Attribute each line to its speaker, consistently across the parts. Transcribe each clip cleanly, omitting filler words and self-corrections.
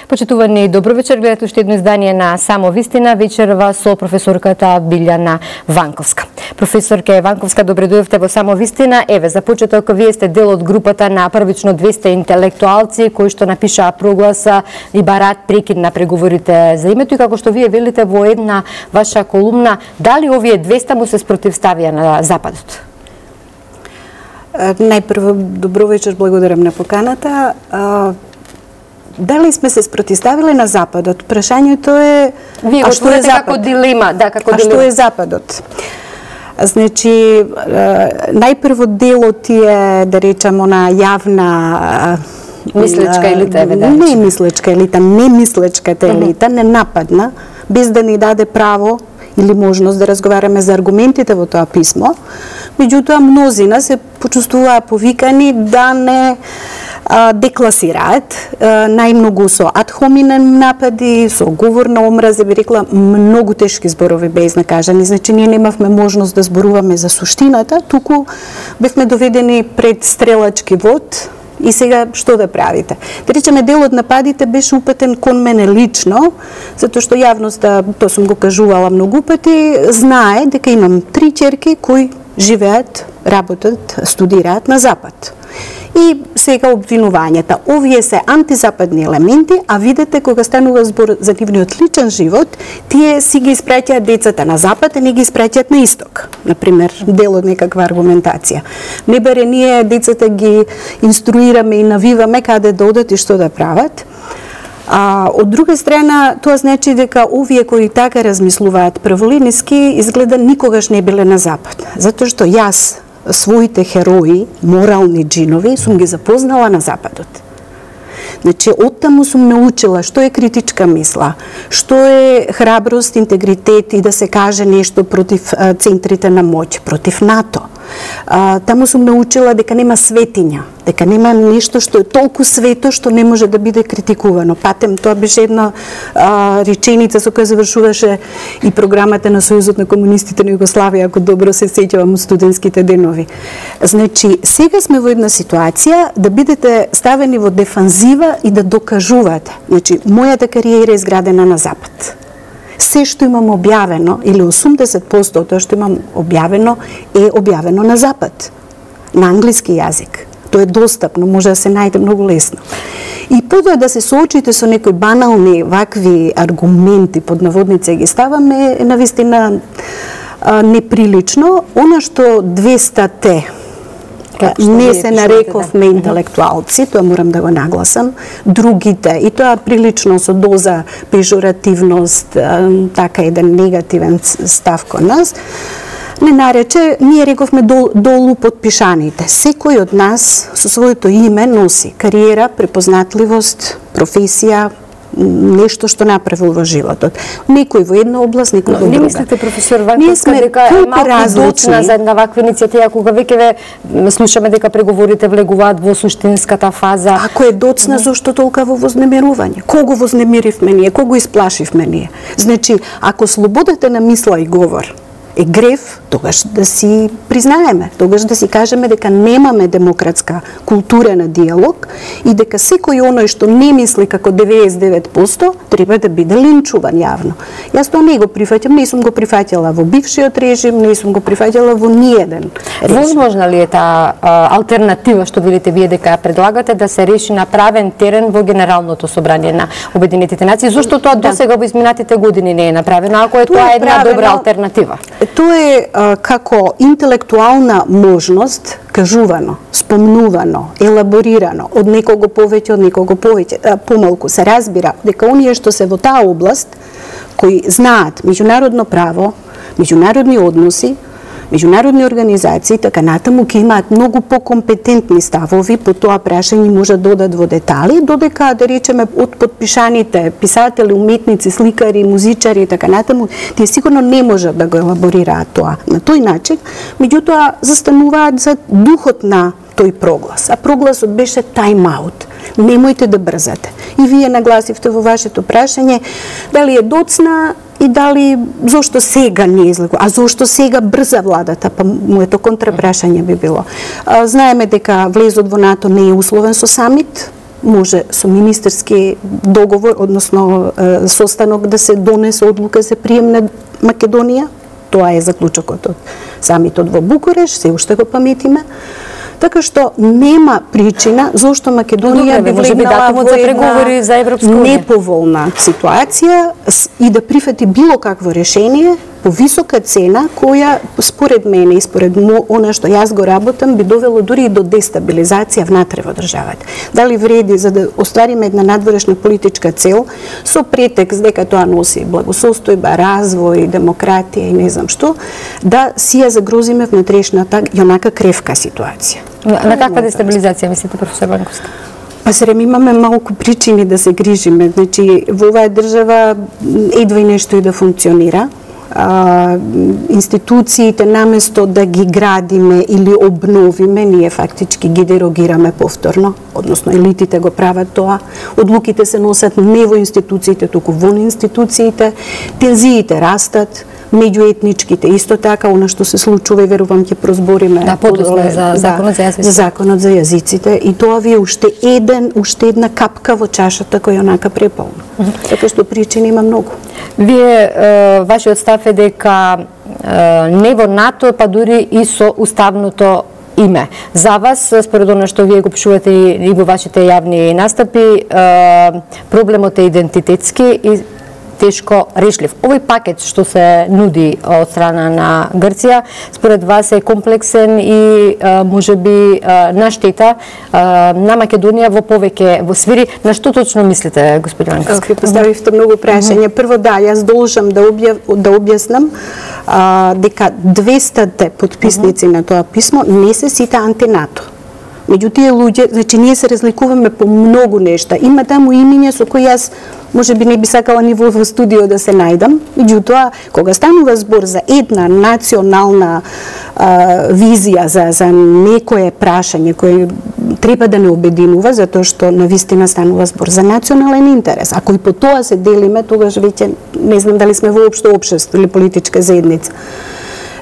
Speaker 1: Почитувани, добро вечер, гледате уште едно издание на Само вистина, вечерва со професорката Билјана Ванковска. Професорке Ванковска, добре дојдовте во Само вистина. Еве, за почеток, вие сте дел од групата на првично 200 интелектуалци кои што напишаа прогласа и бараат прекид на преговорите за името, и како што вие велите во една ваша колумна, дали овие 200 му се спротивставија на Западот?
Speaker 2: Најпрво, добро вечер, благодарам на поканата. Дали сме се спротивставиле на Западот? Прашањето е...
Speaker 1: Вие го отворите како дилема. Да, како
Speaker 2: дилема. Што е Западот? Значи, најпрво делот е, да речемо, на јавна...
Speaker 1: Мислечка елита, еве.
Speaker 2: Не мислечка елита, не мислечката елита, не нападна, без да ни даде право или можност да разговараме за аргументите во тоа писмо. Меѓутоа, мнозина се почувствуваа повикани да не декласираат, најмногу со ад хоминен напади, со говор на омраза, би рекла, многу тешки зборови беа изнакажани. Значи, ние немавме можност да зборуваме за суштината, туку бевме доведени пред стрелачки вод. И сега, што да правите? Да речеме, дел од нападите беше упатен кон мене лично, затоа што јавноста, тоа сум го кажувала многу пати, знае дека имам 3 ќерки кои живеат, работат, студираат на Запад. И сега обвинувањата. Овие се антизападни елементи, а видете, кога станува збор за нивниот личен живот, тие си ги испраќаат децата на Запад, а не ги испраќаат на Исток. Например, дел од некаква аргументација. Не баре ние децата ги инструираме и навиваме каде да одат и што да прават. Од друга страна, тоа значи дека овие кои така размислуваат прволиниски, изгледа никогаш не биле на Запад. Затоа што јас своите херои, морални джинови, сум ги запознала на Западот. Значи, оттаму сум научила што е критичка мисла, што е храброст, интегритет и да се каже нешто против центрите на моќ, против НАТО. Таму сум научила дека нема светиња, дека нема нешто што е толку свето што не може да биде критикувано. Патем, тоа беше една реченица со која завршуваше и програмата на Сојузот на комунистите на Југославија, ако добро се сеќавам од студентските денови. Значи, сега сме во една ситуација да бидете ставени во дефанзива и да докажувате. Значи, мојата кариера е изградена на Запад. Се што имам објавено, или 80% од тоа што имам објавено, е објавено на Запад, на англиски јазик. Тоа е достапно, може да се најде многу лесно. И потоа да се соочите со некои банални вакви аргументи, под наводници ги ставаме, е навистина неприлично. Она што 200-те не се нарековме интелектуалци, тоа морам да го нагласам, другите, и тоа прилично со доза пежоративност, така еден негативен став кон нас, не нарече, ние рековме долу подпишаните. Секој од нас со своето име носи кариера, препознатливост, професија, нешто што направил во животот. Некој во една област, некој во друга.
Speaker 1: Не мислите, професор Ванковска, дека е малку доцна за една ваква иницијатива, кога веќе слушаме дека преговорите влегуваат во суштинската фаза?
Speaker 2: Ако е доцна, зошто толкаво вознемирување? Кого вознемиривме ние? Кого исплашивме ние? Значи, ако слободата на мисла и говор е грев, тогаш да си признаеме, тогаш да си кажеме дека немаме демократска култура на диалог и дека секој оној што не мисли како 99% треба да биде линчуван јавно. Јас тоа не го прифаќам, не сум го прифаќала во бившиот режим, не сум го прифаќала во ниеден режим.
Speaker 1: Возможна ли е таа алтернатива што видите вие дека ја предлагате да се реши на правен терен во Генералното собрание на Обединетите нации? Зошто тоа досега во изминатите години не е направено, ако е тоа една добра алтернатива?
Speaker 2: Тоа е како интелектуална можност, кажувано, спомнувано, елаборирано, од некого повеќе, од некого помалку, се разбира дека оние што се во таа област, кои знаат меѓународно право, меѓународни односи, меѓународни организации, така натаму ќе имаат многу покомпетентни ставови по тоа прашање, може да додат во детали, додека, да речеме, од подпишаните писатели, уметници, сликари, музичари и така натаму, тие сигурно не можат да го елаборираат тоа на тој начин, меѓутоа застануваат за духот на тој проглас. А прогласот беше тайм-аут. Немојте да брзате. И вие нагласивте во вашето прашање дали е доцна и дали зошто сега не излегува, а зошто сега брза владата, па моето контрапрашање би било. Знаеме дека влезот во НАТО не е условен со самит, може со министерски договор, односно состанок да се донесе одлука за прием на Македонија. Тоа е заклучокот од самитот во Букуреш, се уште го паметиме. Така што нема причина зошто Македонија би влегнала во преговори за Европска унија неповолна ситуација и да прифати било какво решение по висока цена, која според мене и според она што јас го работам би довело дури и до дестабилизација внатре во државата. Дали вреди за да оствариме една надворешна политичка цел со претекст дека тоа носи благосостојба, развој, демократија и не знам што, да си ја загрозиме внатрешната јонака кревка ситуација.
Speaker 1: На каква дестабилизација мислите, професор Ванковска?
Speaker 2: Па срем имаме малку причини да се грижиме. Значи, во оваа држава едва и нешто и да функционира. Институциите наместо да ги градиме или обновиме, ние фактички ги дерогираме повторно, односно елитите го прават тоа. Одлуките се носат не во институциите, туку во институциите. Тензиите растат, меѓуетничките исто така, она што се случува и верувам ќе прозбориме
Speaker 1: за законот за јазиците.
Speaker 2: За законот за јазиците и тоа ви е уште една капка во чашата која онака преполна. Така што причини има многу.
Speaker 1: Вие вашиот став е дека не во НАТО, па дури и со уставното име. За вас, според она што вие го пишувате и во вашите јавни настапи, проблемот е идентитетски и тешко решлив. Овој пакет што се нуди од страна на Грција, според вас е комплексен и можеби на штета на Македонија во повеќе во сфери. На што точно мислите, господин Ванковски?
Speaker 2: Поставивте многу прашања. Прво да, јас должам да објаснам дека 200 потписници на тоа писмо не се сите антинато. Меѓу тие луѓе, значи ние се разликуваме по многу нешта. Има таму имиња со кои јас можеби не би сакала ни во студио да се најдам. Меѓутоа, кога станува збор за една национална визија, за некое прашање кое треба да не обединува, затоа што навистина станува збор за национален интерес. Ако и по тоа се делиме, тогаш веќе не знам дали сме воопшто општество или политичка заедница.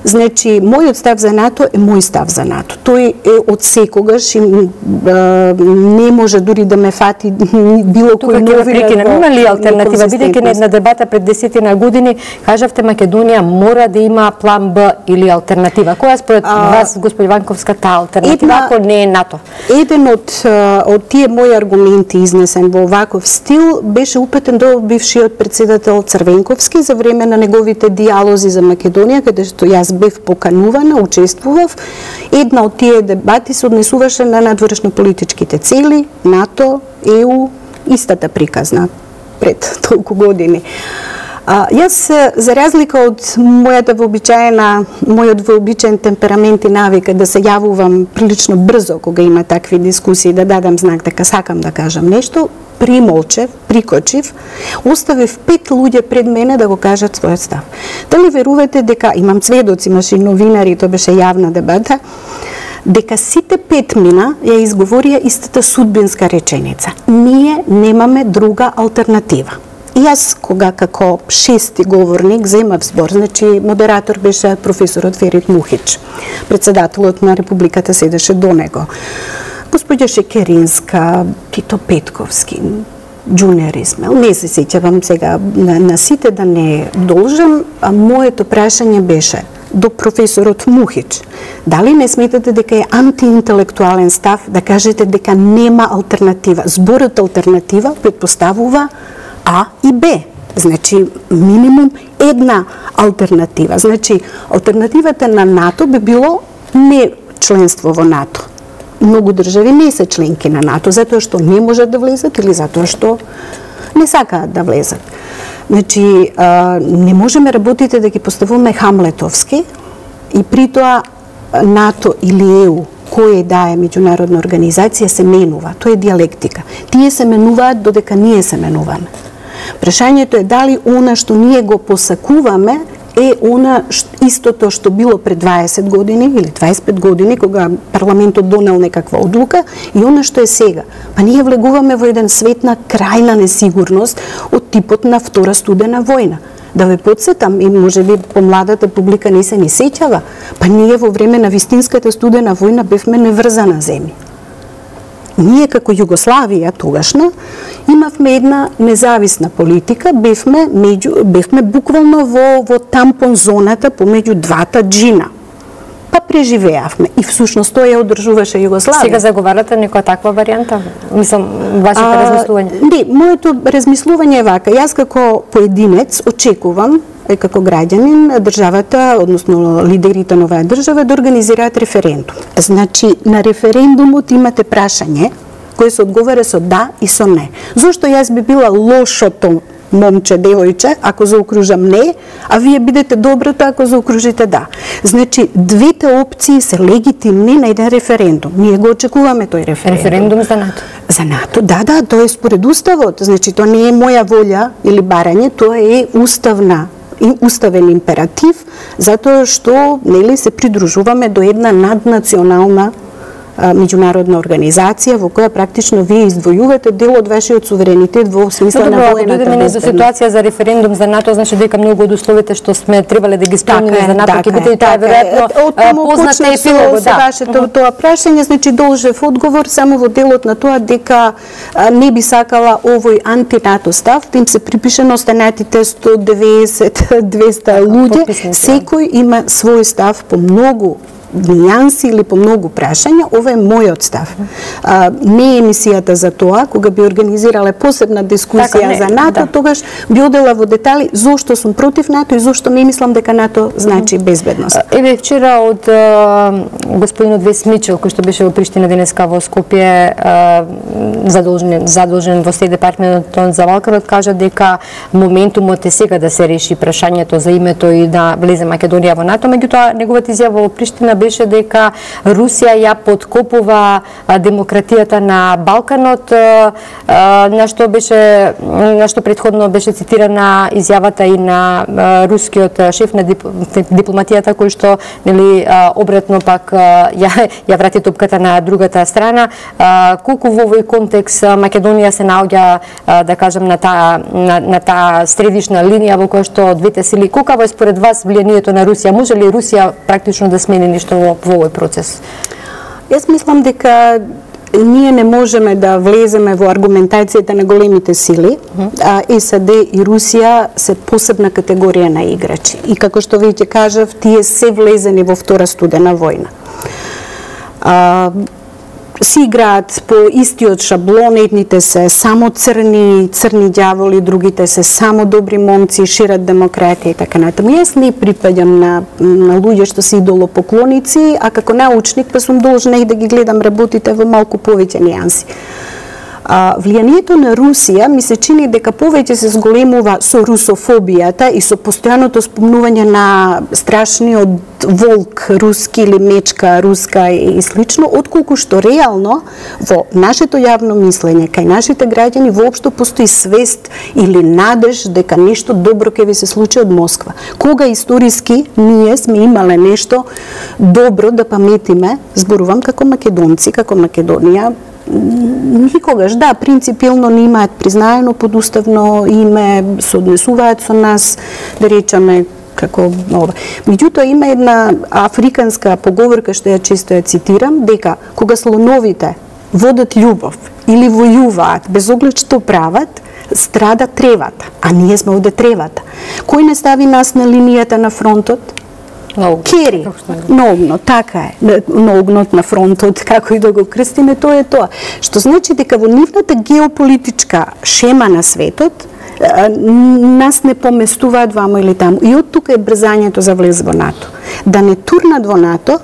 Speaker 2: Значи, мојот став за НАТО е мој став за НАТО. Тој е од секогаш и не може дури да ме фати било кој новина.
Speaker 1: Има ли алтернатива? Бидејќи на една дебата пред 10 години кажавте Македонија мора да има план Б или алтернатива. Која според вас, господин Ванковска, таа алтернатива ако не е НАТО?
Speaker 2: Еден од тие мои аргументи изнесен во оваков стил беше упетен до бившиот председател Црвенковски за време на неговите диалози за Македонија, каде што јас бев поканувана, учествував. Една од тие дебати се однесуваше на надворешно-политичките цели, НАТО, ЕУ, истата приказна пред толку години. Јас, за разлика од мојот вообичаен темперамент и навика да се јавувам прилично брзо кога има такви дискусии, да дадам знак дека сакам да кажам нешто, примолчев, прикочив, оставив 5 луѓе пред мене да го кажат својот став. Дали верувате дека, имам сведоци, имаше новинари, тоа беше јавна дебата, дека сите 5 мина ја изговорија истата судбинска реченица. Ние немаме друга алтернатива. И јас, кога како шести говорник земав збор, значи модератор беше професорот Ферит Мухич, председателот на Републиката седеше до него. Господја Шекеринска, Тито Петковски, Джунер Исмел, не се сеќавам сега на сите да не должам, а моето прашање беше до професорот Мухич. Дали не сметате дека е антиинтелектуален став да кажете дека нема алтернатива? Зборот алтернатива предпоставува А и Б. Значи, минимум една алтернатива. Значи, алтернативата на НАТО би било не членство во НАТО. Многу држави не се членки на НАТО, затоа што не можат да влезат или затоа што не сакаат да влезат. Значи, не можеме работите да ги поставуваме хамлетовски и при тоа НАТО или ЕУ, која да е меѓународна организација, се менува. Тоа е диалектика. Тие се менуваат додека ние се менуваме. Прашањето е дали она што ние го посакуваме е она истото што било пред 20 години или 25 години кога парламентот донел некаква одлука и она што е сега. Па ние влегуваме во еден свет на крајна несигурност од типот на Втора студена војна. Да ве подсетам, и можеби помладата публика не се ни сеќава, па ние во време на вистинската студена војна бевме неврзана земја. ние како Југославија тогашна имавме една независна политика, бевме буквално во тампон зоната помеѓу двата джина. Па преживеавме и всушност тоа ја одржуваше Југославија.
Speaker 1: Сега заговарате некоја таква варијанта? Мислам, вашите размислувања?
Speaker 2: Не, моето размислување е вака. Јас како поединец очекувам како граѓанин државата, односно лидерите на оваа држава да организираат референдум. Значи, на референдумот имате прашање кој се одговара со да и со не. Зошто јас би била лошото момче, девојче, ако заокружам не, а вие бидете доброто ако заокружите да. Значи, двете опции се легитимни на еден референдум. Ние го очекуваме тој референдум.
Speaker 1: Референдум за НАТО?
Speaker 2: За НАТО, да, тоа е според Уставот. Значи, тоа не е моја волја или барање, тоа е уставен императив, затоа што нели се придружуваме до една наднационална меѓународна организација во која практично вие издвојувате дел од вашиот суверенитет во смисла на воената безбедност.
Speaker 1: До ситуација за референдум за НАТО, значи дека многу од условите што сме требале да ги исполниме за НАТО ќе биде и тоа веројатно позната епилог,
Speaker 2: да. Вашето тоа прашање, значи должев одговор само во делот на тоа дека не би сакала овој анти-НАТО став, да им се припише на останатите 190-200 луѓе, секој има свој став по многу нијанси или по многу прашања. Ова е мојот став. Не е емисијата за тоа, кога би организирале посебна дискусија за НАТО, тогаш би одела во детали зошто сум против НАТО и зошто не мислам дека НАТО значи безбедност.
Speaker 1: Еве вчера од господинот Вес Мичел, кој што беше во Приштина, денеска во Скопје, задолжен во Стејт департментот за Балканот, кажа дека моментумот е сега да се реши прашањето за името и да влезе Македонија во НАТО, меѓутоа неговата изјава во Приштина беше дека Русија ја подкопува демократијата на Балканот, на што претходно беше цитирана изјавата и на рускиот шеф на дипломатијата, кој што нели обратно пак ја врати топката на другата страна. Колку во овој контекст Македонија се наоѓа, да кажам, на таа средишна линија во која што двете сили, колкаво е според вас влијанието на Русија? Може ли Русија практично да смени нешто во овој процес?
Speaker 2: Јас мислам дека ние не можеме да влеземе во аргументацијата на големите сили, а САД и Русија се посебна категорија на играчи. И како што веќе кажав, тие се влезени во втора студена војна. Си играат по истиот шаблон, едните се само црни ѓаволи, другите се само добри момци, шират демократија и така натаму. Јас не припаѓам на луѓе што се идолопоклоници, а како научник па сум должна и да ги гледам работите во малку повеќе нијанси. Влијанието на Русија ми се чини дека повеќе се зголемува со русофобијата и со постојаното спомнување на страшниот волк руски или мечка руска и слично, отколку што реално во нашето јавно мислење кај нашите граѓани воопшто постои свест или надеж дека нешто добро ќе ви се случи од Москва. Кога историски ние сме имале нешто добро да паметиме, зборувам како македонци, како Македонија, никогаш, да, принципилно не имаат признаено подуставно име, се однесуваат со нас, да речеме, како ова. Меѓутоа има една африканска поговорка што ја често ја цитирам, дека кога слоновите водат љубов или војуваат без оглед што прават, страда тревата, а ние сме овде тревата. Кој не стави нас на линијата на фронтот? Кери, наогно, така е, на огнот на фронтот, како и да го крстиме, тоа е тоа. Што значи дека во нивната геополитичка шема на светот, нас не поместуваат вамо или таму. И од тука е брзањето за влез во НАТО. Да не турнат во НАТО,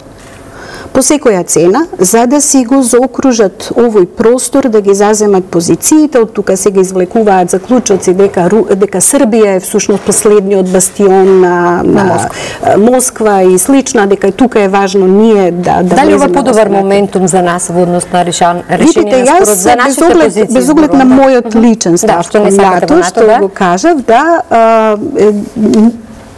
Speaker 2: по секоја цена, за да си го заокружат овој простор, да ги заземат позициите, од тука се ги извлекуваат заклучоци дека Србија е всушност последниот бастион на Москва и слично, дека тука е важно ние да
Speaker 1: Дали ова подобар моментум за нас во однос на решение на спорот за нашите позиции?
Speaker 2: Без оглед на мојот личен став кон НАТО, што го кажав, да,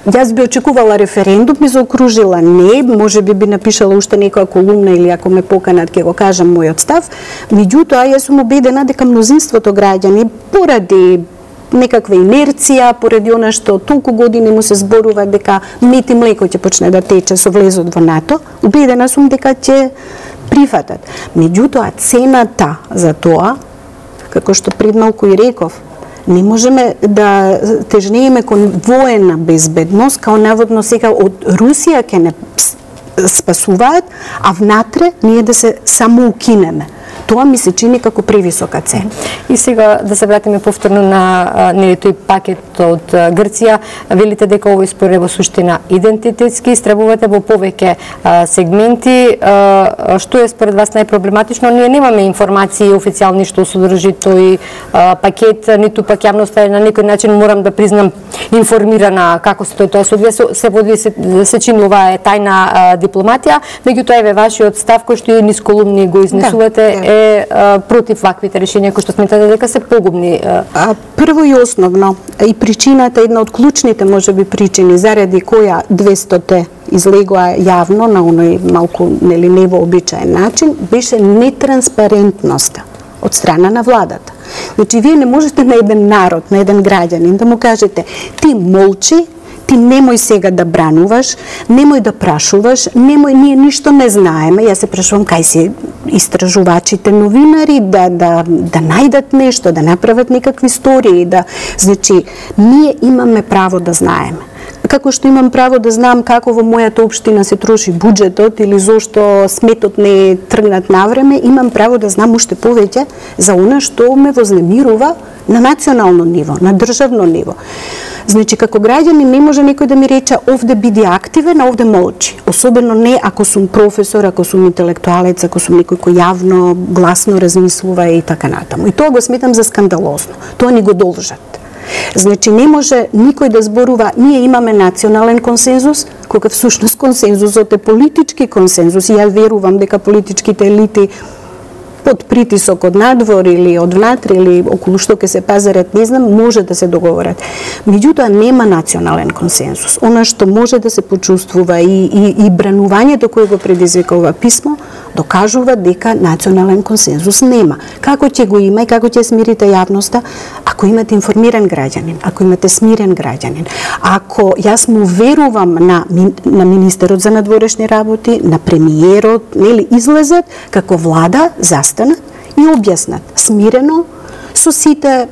Speaker 2: јас би очекувала референдум, ми заокружила не, може би напишала уште некоја колумна или ако ме поканат ќе го кажам мојот став. Меѓутоа, јас сум убедена дека мнозинството граѓани поради некаква инерција, поради она што толку години му се зборува дека мет и млеко ќе почне да тече со влезот во НАТО, убедена сум дека ќе прифатат. Меѓутоа, цената за тоа, како што пред малку и реков, не можеме да тежнееме кон воена безбедност, као наводно сега од Русија ќе не спасуваат, а внатре ние да се само укинеме. Тоа ми се чини како превисока цена.
Speaker 1: И сега да се вратиме повторно на тој пакет од Грција. Велите дека овој спор е во суштина идентитетски, истребувате во повеќе сегменти. Што е според вас најпроблематично? Ние немаме информации официјални што содржи тој пакет, ниту пак јавноста е на некој начин, морам да признам, информирана како се тоа се одвија. Се води, се чини ова е тајна дипломатија, меѓутоа еве вашиот став кој што и низ колумни го изнесувате е против ваквите решенија кои што сметате дека се погубни?
Speaker 2: Прво и основно, и причината, една од клучните можеби причини заради која 200-те излегоа јавно на оној малку невообичаен начин, беше нетранспарентноста од страна на владата. Значи, вие не можете на еден народ, на еден граѓанин да му кажете ти молчи, ти немој сега да брануваш, немој да прашуваш, немој, ние ништо не знаеме. Јас се прашувам кај се истражувачите новинари да најдат нешто, да направат некакви истории, значи ние имаме право да знаеме. Како што имам право да знам како во мојата општина се троши буџетот или зошто сметот не тргнат навреме, имам право да знам уште повеќе за она што ме вознемирува на национално ниво, на државно ниво. Значи, како граѓанин не може некој да ми рече овде биди активен, а овде молчи. Особено не ако сум професор, ако сум интелектуалец, ако сум некој кој јавно, гласно размислува и така натаму. И тоа го сметам за скандалозно. Тоа ни го должат. Значи, не може никој да зборува, ние имаме национален консензус, кога всушност консензусот е политички консензус. И ја верувам дека политичките елити под притисок од надвор или од внатре или околу што ќе се пазарат, не знам, може да се договорат. Меѓутоа нема национален консензус. Она што може да се почувствува и бранувањето кое го предизвика ова писмо докажува дека национален консензус нема. Како ќе го има и како ќе смирите јавноста? Ако имате информиран граѓанин, ако имате смирен граѓанин, ако јас му верувам на министерот за надворешни работи, на премиерот, нели излезат како влада, застанат и објаснат смирено со сите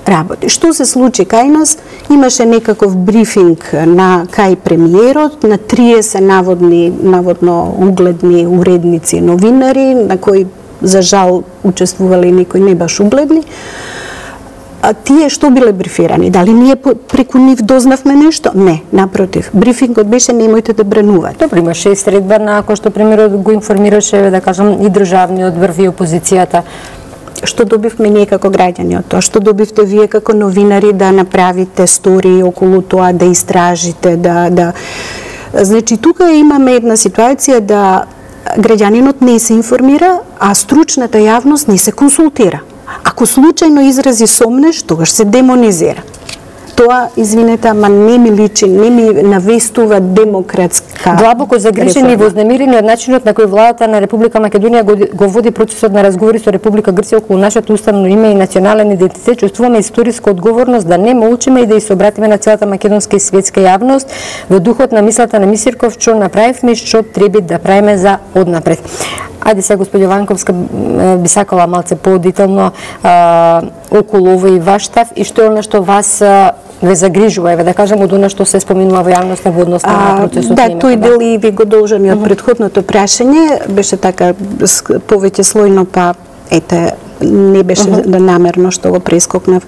Speaker 2: работи. Што се случи кај нас? Имаше некаков брифинг на кај премиерот, на 30 наводно угледни уредници, новинари, на кои за жал учествувале некои не баш угледни. А тие што биле брифирани? Дали ние преку нив дознавме нешто? Не, напротив. Брифингот беше немојте да бранувате.
Speaker 1: Добро, имаше и средба на кој што премиерот го информираше, да кажам, и државниот врв и опозицијата.
Speaker 2: Што добивме ние како граѓани од тоа? Што добивте вие како новинари да направите стории околу тоа, да истражите, Значи, тука имаме една ситуација да граѓанинот не се информира, а стручната јавност не се консултира. Ако случајно изрази сомнеш, тогаш се демонизира. Тоа, извинете, ама не ми личи, не ми навестува демократска
Speaker 1: длабоко загрижени и вознемирени од начинот на кој владата на Република Македонија го води процесот на разговори со Република Грција околу нашето уставно име и национален идентитет, чувствуваме историска одговорност да не молчиме и да се обратиме на целата македонска и светска јавност во духот на мислата на Мисирков, што направивме и што треба да правиме за однапред. Ајде сега, господјо Ванковска, би сакала малце подетално околу овој ваш став и што е она што вас ве загрижува, еве да кажам, од она што се споминува во јавноста во однос на процесот.
Speaker 2: Да, тој дел и ви го должам и од претходното прашање, беше така повеќе слојно, па ете, не беше намерно што го прескокнав.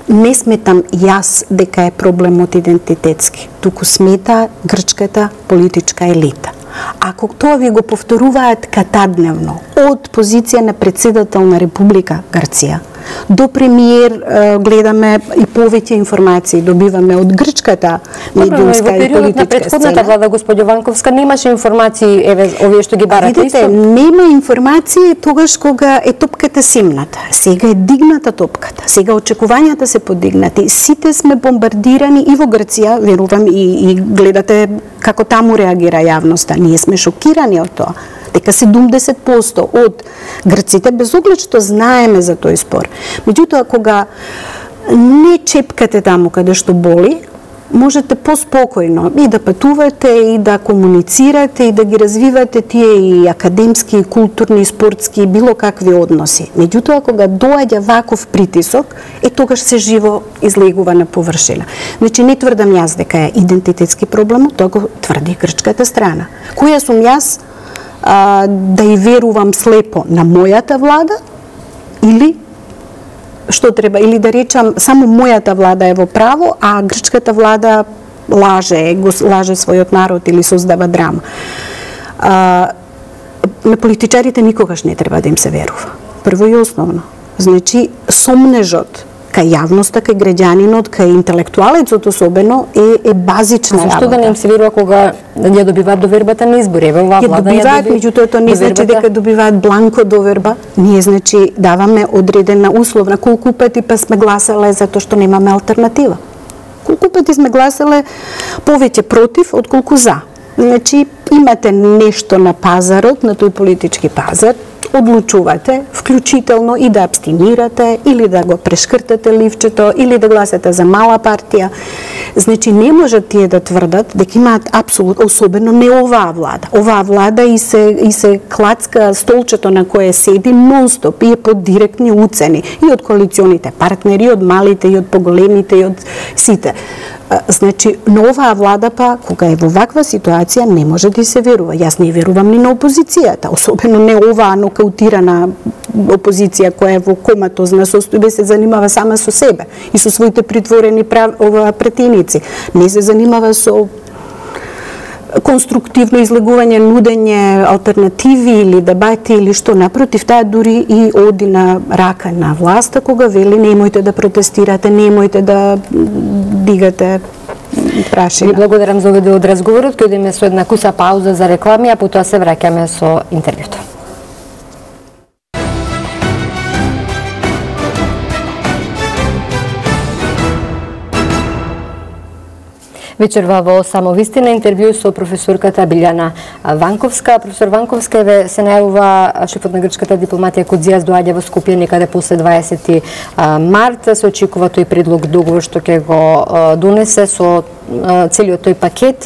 Speaker 2: Не сметам јас дека е проблемот идентитетски, туку смета грчката политичка елита. Ако тоа ви го повторуваат катадневно, од позиција на председател на Република Грција до премиер, гледаме и повеќе информации добиваме од грчката медиумска и политичка сцена. Во периодот на претходната влада, господјо Ванковска, немаше информации, еве, овие што ги барате. Видите, нема информации тогаш кога е топката симната. Сега е дигната топката. Сега очекувањата се подигнати. Сите сме бомбардирани и во Грција, верувам, и гледате како таму реагира јавноста. Ние сме шокирани од тоа. Дека 70% од грците, без оглед што знаеме за тој спор. Меѓутоа, кога не чепкате таму каде што боли, можете поспокојно и да патувате, и да комуницирате, и да ги развивате тие и академски, и културни, и спортски, и било какви односи. Меѓутоа, кога доаѓа ваков притисок, тогаш се живо излегува на површина. Значи, не тврдам јас дека е идентитетски проблем, тоа го тврди грчката страна. Која сум јас да и верувам слепо на мојата влада, или што треба, или да речам само мојата влада е во право, а грчката влада лаже својот народ или создава драма. На политичарите никогаш не треба да им се верува. Прво и основно. Значи, сомнежот кај јавноста, кај граѓанинот, кај интелектуалецот особено е базична работа.
Speaker 1: Зашто да не им се верува кога ја добиваат довербата на избори? Еве оваа влада ја добиваат,
Speaker 2: меѓутоа тоа не значи дека добиваат бланко доверба. Ние значи даваме одредена условна. Колку пати па сме гласале затоа што немаме алтернатива? Колку пати сме гласале повеќе против отколку за? Значи имате нешто на пазарот, на тој политички пазар, одлучувате, вклучително и да абстинирате, или да го прешкртате ливчето, или да гласате за мала партија. Значи, не можат тие да тврдат дека имаат апсолутно, особено не оваа влада. Оваа влада и се клацка столчето на кое седи нон-стоп и е под директни уцени и од коалиционите партнери, и од малите, и од поголемите, и од сите. Значи, на оваа влада па, кога е во ваква ситуација, не може да се верува. Јас не верувам ни на опозицијата, особено не оваа нокаутирана опозиција која е во коматозна состојба, се занимава сама со себе и со своите притворени претеници. Не се занимава со конструктивно излегување, нудење алтернативи или дебати или што, напротив, таа дури и оди на рака на власта кога вели немојте да протестирате, немојте да дигате прашина.
Speaker 1: Ви благодарам за овој дел од разговорот, кој идеме со една куса пауза за реклами, а потоа се враќаме со интервјуто. Вечерва во Самовистина интервју со професорката Билјана Ванковска. Професор Ванковска се најавува шефот на грчката дипломатија Кодзијас доаѓа во Скопје некаде после 20 март. Се очекува тој предлог договор што ќе го донесе со целиот тој пакет.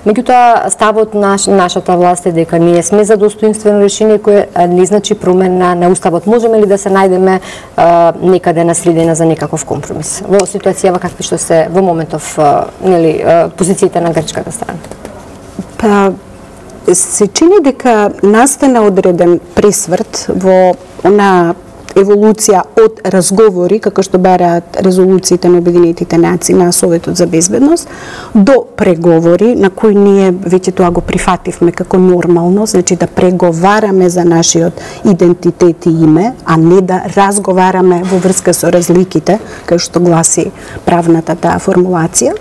Speaker 1: Меѓутоа, ставот на нашата власт е дека ние сме за достоинствено решение кое не значи промена на уставот. Можеме ли да се најдеме некаде на средина за некаков компромис во ситуација какви што се во моментов нели позициите на грчката страна?
Speaker 2: Па се чини дека настана одреден пресврт во она еволуција од разговори, како што бараат резолуциите на Обединетите нации на Советот за безбедност, до преговори на кои ние веќе тоа го прифативме како нормално, значи да преговараме за нашиот идентитет и име, а не да разговараме во врска со разликите, како што гласи правната таа формулација.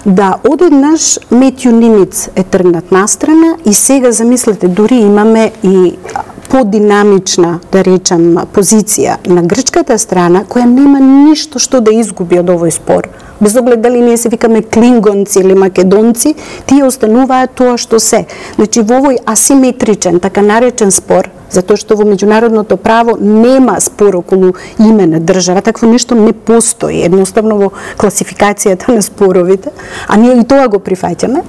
Speaker 2: Да одеднаш Метју Нимиц е тргнат настрана и сега замислете, дури имаме и подинамична, да речам, позиција на грчката страна, која нема ништо што да изгуби од овој спор. Без оглед дали ние се викаме клингонци или македонци, тие остануваат тоа што се. Значи, во овој асиметричен, така наречен спор, затоа што во меѓународното право нема спор околу име на држава, такво нешто не постои, едноставно во класификацијата на споровите, а ние и тоа го прифаќаме.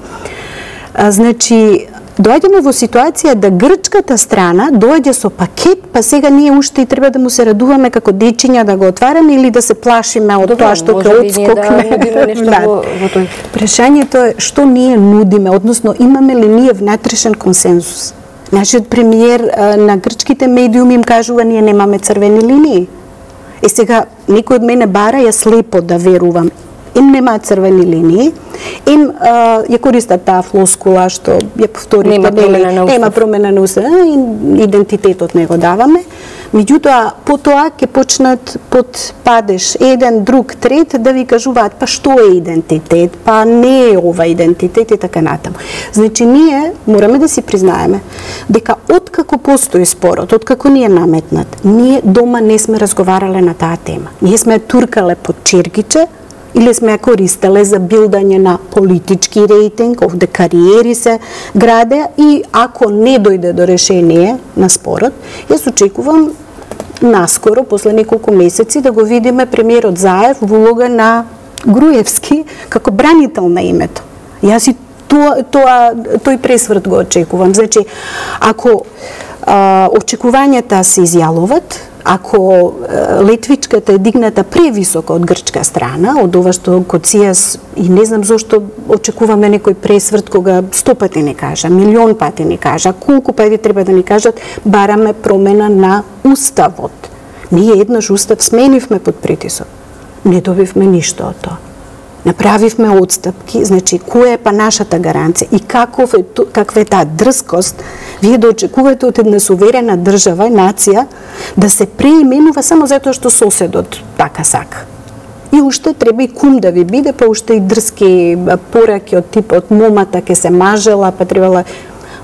Speaker 2: Значи, доаѓаме во ситуација да грчката страна доаѓа со пакет, па сега ние уште и треба да му се радуваме како дечиња да го отвараме или да се плашиме од тоа што ќе одскокне. Прашањето е што ние нудиме, односно имаме ли ние внатрешен консензус? Нашиот премиер на грчките медиуми им кажува ние немаме црвени линии. Сега некој од мене бара ја слепо да верувам. Им немаат црвени линии, им ја користат таа флоскула што ја повторите, нема промена на устав, идентитетот не го даваме. Меѓутоа, потоа ќе почнат под падеж еден, друг, трет да ви кажуваат па што е идентитет, па не е ова идентитет и така натаму. Значи ние мораме да си признаеме дека откако постои спорот, откако ни е наметнат, ние дома не сме разговарале на таа тема. Ние сме туркале под чергиче, или сме ја користеле за билдање на политички рейтинг, овде кариери се граде и ако не дојде до решение на спорот, јас очекувам наскоро, после неколку месеци, да го видиме премиерот Заев во улога на Груевски како бранител на името. Јас и тој пресврт го очекувам. Значи, ако очекувањата се изјалуват, ако летвичката е дигната превисоко од грчка страна, од ова што Коцијас, и не знам зошто очекуваме некој пресврт кога 100 пати не кажа, милион пати не кажа, колку пати треба да ни кажат, бараме промена на уставот. Ние еднаш устав сменивме под притисок. Не добивме ништо од тоа. Направивме отстапки, значи која е па нашата гаранција и каква е таа дрскост вие да очекувате од една суверена држава и нација да се преименува само затоа што соседот така сака. И уште треба и кум да ви биде, па уште и дрски пораки од типот момата ке се мажела, па требала.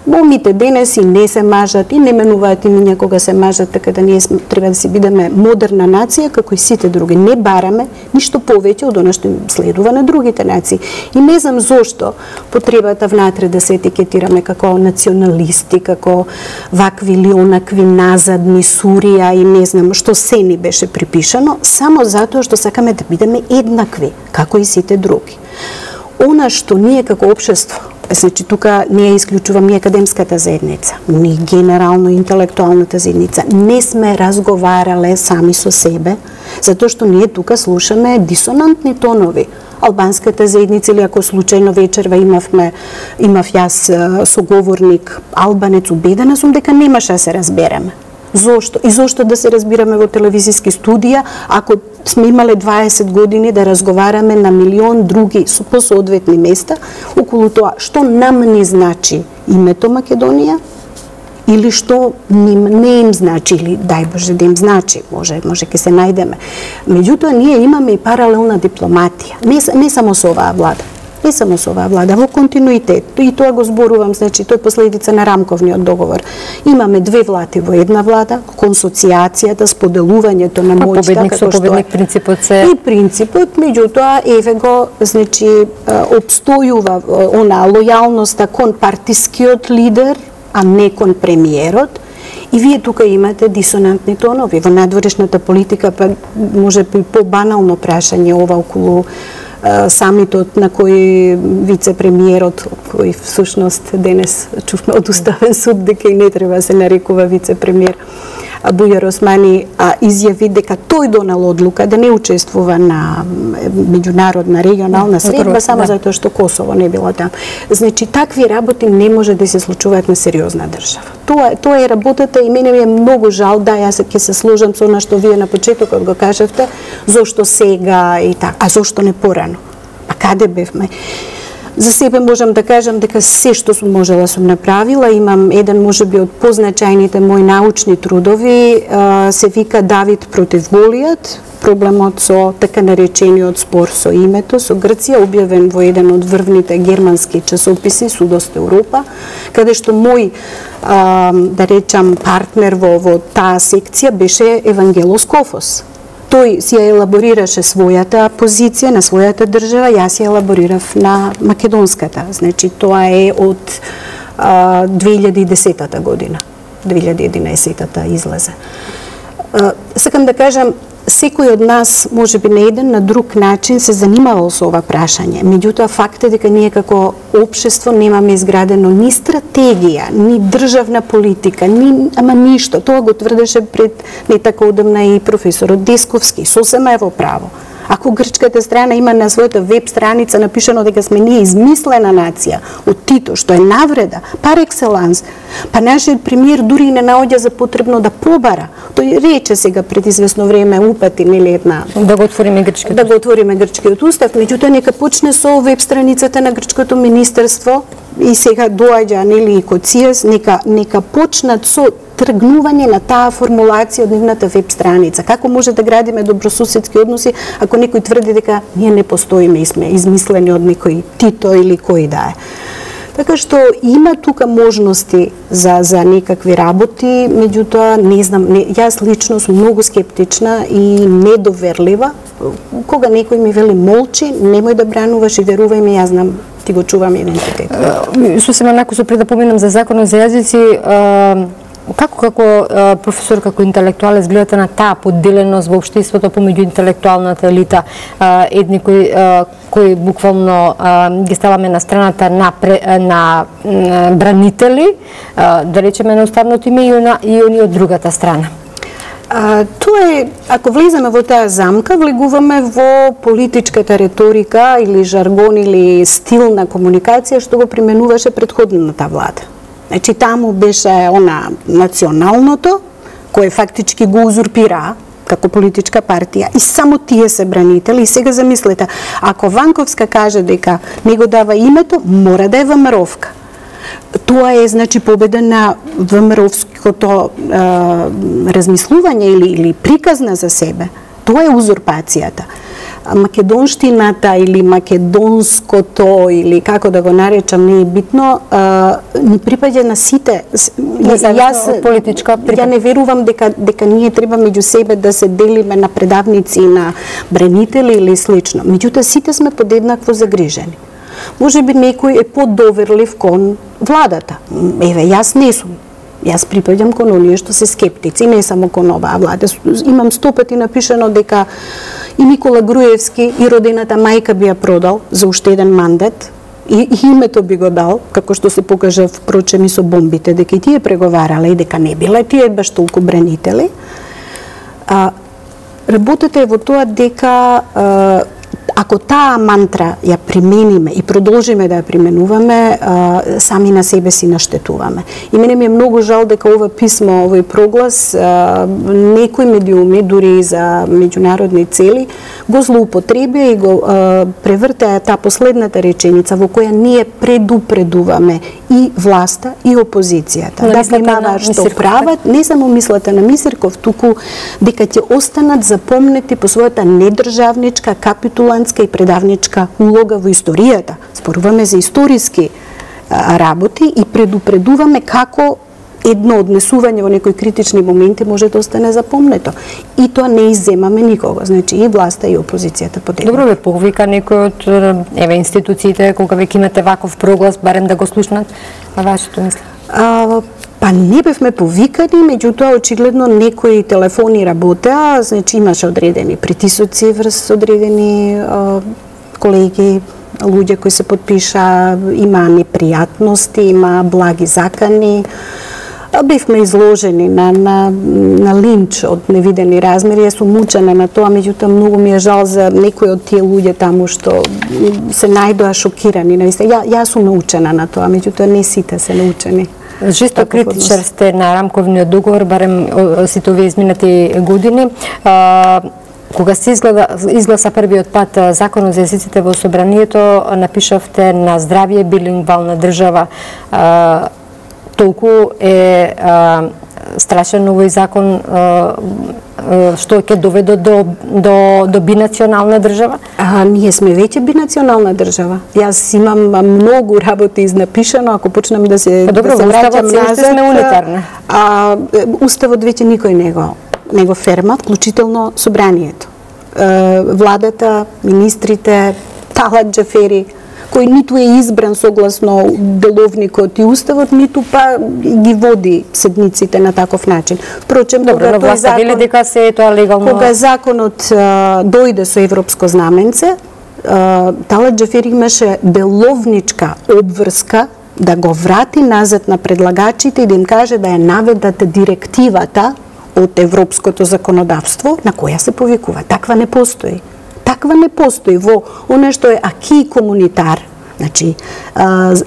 Speaker 2: Момите денес и не се мажат, и не менуваат имиња кога се мажат, така да ние треба да си бидеме модерна нација, како и сите други. Не бараме ништо повеќе од она што следува на другите нации. И не знам зошто потребата внатре да се етикетираме како националисти, како вакви или онакви назадни, Сурија и не знам што се ни беше припишано, само затоа што сакаме да бидеме еднакви, како и сите други. Она што ние како општество, значи тука не ја исклучувам и академската заедница, ни генерално интелектуалната заедница, не сме разговарале сами со себе, затоа што ние тука слушаме дисонантни тонови. Албанската заедница, или ако случајно вечерва имав јас соговорник албанец, убедена сум дека немаше да се разбереме. Зошто? И зошто да се разбираме во телевизиски студија, ако сме имале 20 години да разговараме на милион други по соодветни места околу тоа што нам не значи името Македонија или што не им значи, или дај Боже да им значи, може ќе се најдеме. Меѓутоа ние имаме и паралелна дипломатија, не само со оваа влада. Не само со оваа влада, во континуитет. И тоа го зборувам, значи, тој е последица на рамковниот договор. Имаме две влади во една влада, консоциацијата, споделувањето на моќта,
Speaker 1: победник со победник принципот се.
Speaker 2: И принципот, меѓутоа, еве го, значи, обстојува она лојалноста кон партискиот лидер, а не кон премиерот. И вие тука имате дисонантни тонови. Во надворешната политика, па може би побанално прашање ова околу самитот на кој вице-премиерот, кој всушност денес чувме од Уставен суд дека и не треба да се нарекува вице-премиер, Бујар Османи изјави дека тој донал одлука да не учествува на меѓународна регионална средба само затоа што Косово не било таму. Значи такви работи не може да се случуваат на сериозна држава. Тоа е работата и мене ми е многу жал, да, јас ќе се сложам со она што вие на почетокот го кажавте, зошто сега и така, а зошто не порано? Па каде бевме? За себе можам да кажам дека се што сум можела сум направила. Имам еден можеби од позначајните мои научни трудови, се вика Давид против Голијат, проблемот со така наречениот спор со името со Грција, објавен во еден од врвните германски часописи Судост Европа, каде што мој да речам партнер во таа секција беше Евангелос Кофос. Тој си ја елаборираше својата позиција на својата држава, јас ја елаборирав на македонската. Значи, тоа е од 2010 година. 2011 излезе. Сакам да кажам, секој од нас, може би на еден, на друг начин се занимавал со ова прашање. Меѓутоа, факт е дека ние како општество немаме изградено ни стратегија, ни државна политика, ама ништо. Тоа го тврдеше пред не така одамна и професорот Десковски, сосема е во право. Ако грчката страна има на својата веб страница напишано дека сме ние измислена нација од Тито, што е навреда, пар екселанс, па нашиот премиер дури не наоѓа за потребно да побара. Тој рече сега пред известно време упати, нели, една
Speaker 1: да го отвориме грчкиот.
Speaker 2: Да го отвориме грчкиот устав, меѓутоа нека почне со веб страницата на грчкото министерство и сега доаѓа, нели, и Коцијас, нека почнат со тргнување на таа формулација од нивната веб страница. Како може да градиме добросуседски односи ако некој тврди дека ние не постоиме и сме измислени од некој Тито или кој да е. Така што има тука можности за некакви работи, меѓутоа не знам, јас лично сум многу скептична и недоверлива. Кога некој ми вели молчи, немој да брануваш и верувај ми, јас знам, ти го чувам идентитет.
Speaker 1: Сосема накусо пред да поминам за законот за јазици, како професор, како интелектуалец гледате на таа подделеност во општеството помеѓу интелектуалната елита, едни кои буквално ги ставаме на страната на бранители, да речеме на уставното име, и они од другата страна?
Speaker 2: Тоа е, ако влеземе во таа замка, влегуваме во политичката риторика или жаргон или стил на комуникација што го применуваше претходната влада. Значи, таму беше она националното, кое фактички го узурпира како политичка партија и само тие се бранители. И сега замислете, ако Ванковска каже дека не го дава името, мора да е ВМРО-вка. Тоа е, значи, победа на ВМРО-вското размислување или приказна за себе. Тоа е узурпацијата. Македонштината или македонското, или како да го наречам, не е битно, ни припаѓа на сите. Ја не верувам дека ние треба меѓу себе да се делиме на предавници, на бранители или слично. Меѓутоа, сите сме подеднакво загрижени. Може би некој е подоверлив кон владата. Еве, јас не сум. Јас припаѓам кон оние што се скептици, не само кон оваа влада. Имам 100 пати напишано дека и Никола Груевски и родената мајка би ја продал за уште еден мандат, и името би го дал, како што се покажа впрочем и со бомбите, дека и тие преговарале и дека не биле тие баш толку бранители. Работата е во тоа дека ако таа мантра ја примениме и продолжиме да ја применуваме, сами на себе си наштетуваме. И мене ми е многу жал дека ова писмо, овој проглас, некои медиуми, дури и за меѓународни цели, го злоупотребија и го превртеа таа последната реченица во која ние предупредуваме и власта и опозицијата. Да внимаваат што прават, не само мислата на Мисирков, туку дека ќе останат запомнети по својата недржавничка, капитулантска и предавничка улога во историјата. Зборуваме за историски работи и предупредуваме како едно однесување во некои критични моменти може да остане запомнето. И тоа не изземаме никого, значи и власта и опозицијата подеднакво.
Speaker 1: Добро, ве повика некој од институциите кога веќе имате ваков проглас, барем да го слушнат на вашето мислење?
Speaker 2: Па не бевме повикани, меѓутоа очигледно некои телефони работеа, значи имаше одредени притисоци врз одредени колеги, луѓе кои се подпиша, има непријатности, има благи закани. Бевме изложени на линч од невидени размери. Јас сум учена на тоа, меѓутоа многу ми е жал за некои од тие луѓе таму што се најдоа шокирани. Јас сум научена на тоа, меѓутоа не сите се научени.
Speaker 1: Жесток критичар сте на рамковниот договор, барем сите овие изминати години. Кога се изгласа првиот пат Законот за езиците во собранието, напишавте на здравје билингвална држава. Толку е страшен овој закон што ќе доведе до бинационална држава?
Speaker 2: Ние сме веќе бинационална држава. Јас имам многу работи изнапишано, ако почнам да се враќам назад.
Speaker 1: Сме унитарна.
Speaker 2: Уставот веќе никој не го ферма, вклучително собранието. Владата, министрите, Талат Џафери, кој ниту е избран согласно деловникот и уставот, ниту па ги води седниците на таков начин. Впрочем,
Speaker 1: кога дека се е тоа легално.
Speaker 2: Кога законот дојде со европско знаменце, Талат Џафери имаше деловничка обврска да го врати назад на предлагачите и да им каже да ја наведат директивата од европското законодавство на која се повикува. Таква не постои. Таква не постои во оно што е аки комунитар. Значи,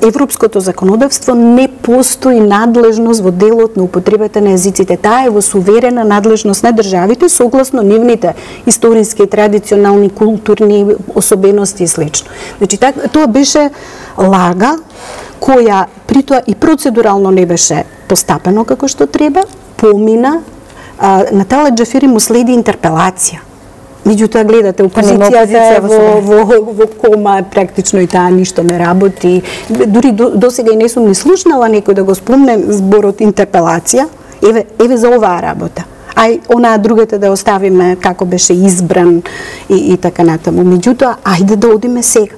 Speaker 2: европското законодавство не постои надлежност во делот на употребата на езиците. Таа е во суверена надлежност на државите согласно нивните историски, традиционални, културни особености и слично. Значи, тоа беше лага која притоа и процедурално не беше постапено како што треба, помина. На Талат Џафери му следи интерпелација. Меѓутоа, гледате, опозицијата во кома, практично и таа ништо не работи. Дури до сега и не сум ни слушнала некој да го спомне зборот интерпелација. Еве за оваа работа. Онаа другата да оставиме како беше избран и така натаму. Меѓутоа, ајде да одиме сега.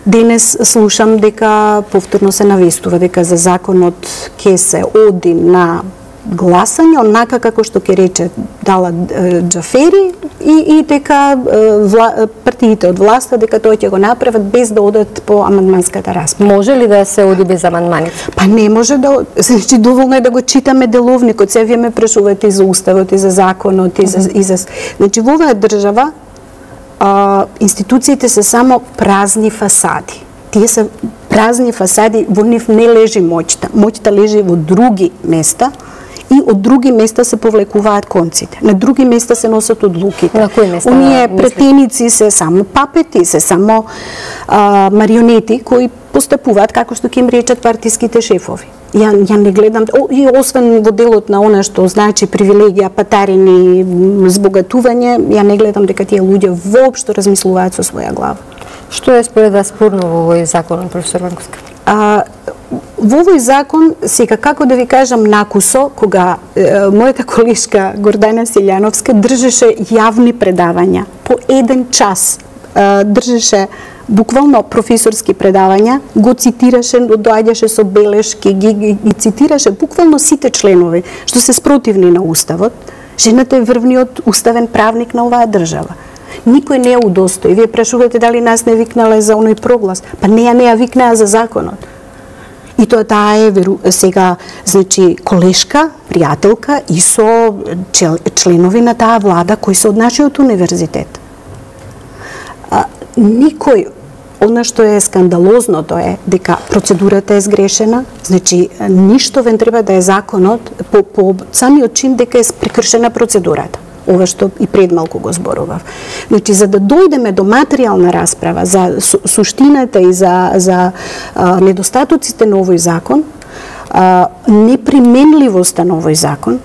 Speaker 2: Денес слушам дека повторно се навестува дека за законот ќе се оди на гласање онака како што ќе рече Дала Џафери и дека партиите од власта дека тоа ќе го направат без да одат по амандманската расправа.
Speaker 1: Може ли да се оди без амандмани?
Speaker 2: Па не може да, значи доволно е да го читаме деловникот, се вие ме прашувате и за уставот и за законот и за значи во оваа држава институциите се само празни фасади. Тие се празни фасади, во нив не лежи моќта. Моќта лежи во други места и од други места се повлекуваат конците. На други места се носат одлуките.
Speaker 1: На кои места?
Speaker 2: Оние претеници се само папети, се само марионети кои постапуваат како што ќе им речат партиските шефови. Ја не гледам, и освен во делот на она што значи привилегија, патарини, збогатување, ја не гледам дека тие луѓе воопшто размислуваат со своја глава.
Speaker 1: Што е според вас спорно во овој закон, професор Ванковска?
Speaker 2: Во овој закон, сега како да ви кажам накусо, кога мојата колешка Гордана Силјановска држеше јавни предавања по 1 час, држеше буквално професорски предавања, го цитираше, доаѓаше со белешки, ги цитираше буквално сите членови што се спротивни на уставот. Жената е врвниот уставен правник на оваа држава. Никој не ја удостои. Вие прашувате дали нас не викнале за оној проглас. Па не ја викнаа за законот. И тоа таа е сега, значи, колешка, пријателка и со членови на таа влада кои се од нашиот универзитет. Никој, она што е скандалозното е дека процедурата е сгрешена, значи ништо вен треба да е законот по самиот чин дека е прекршена процедурата. Ова што и пред малку го зборував. Значи, за да дојдеме до материјална расправа за суштината и за недостатоците на овој закон, неприменливоста на овој закон,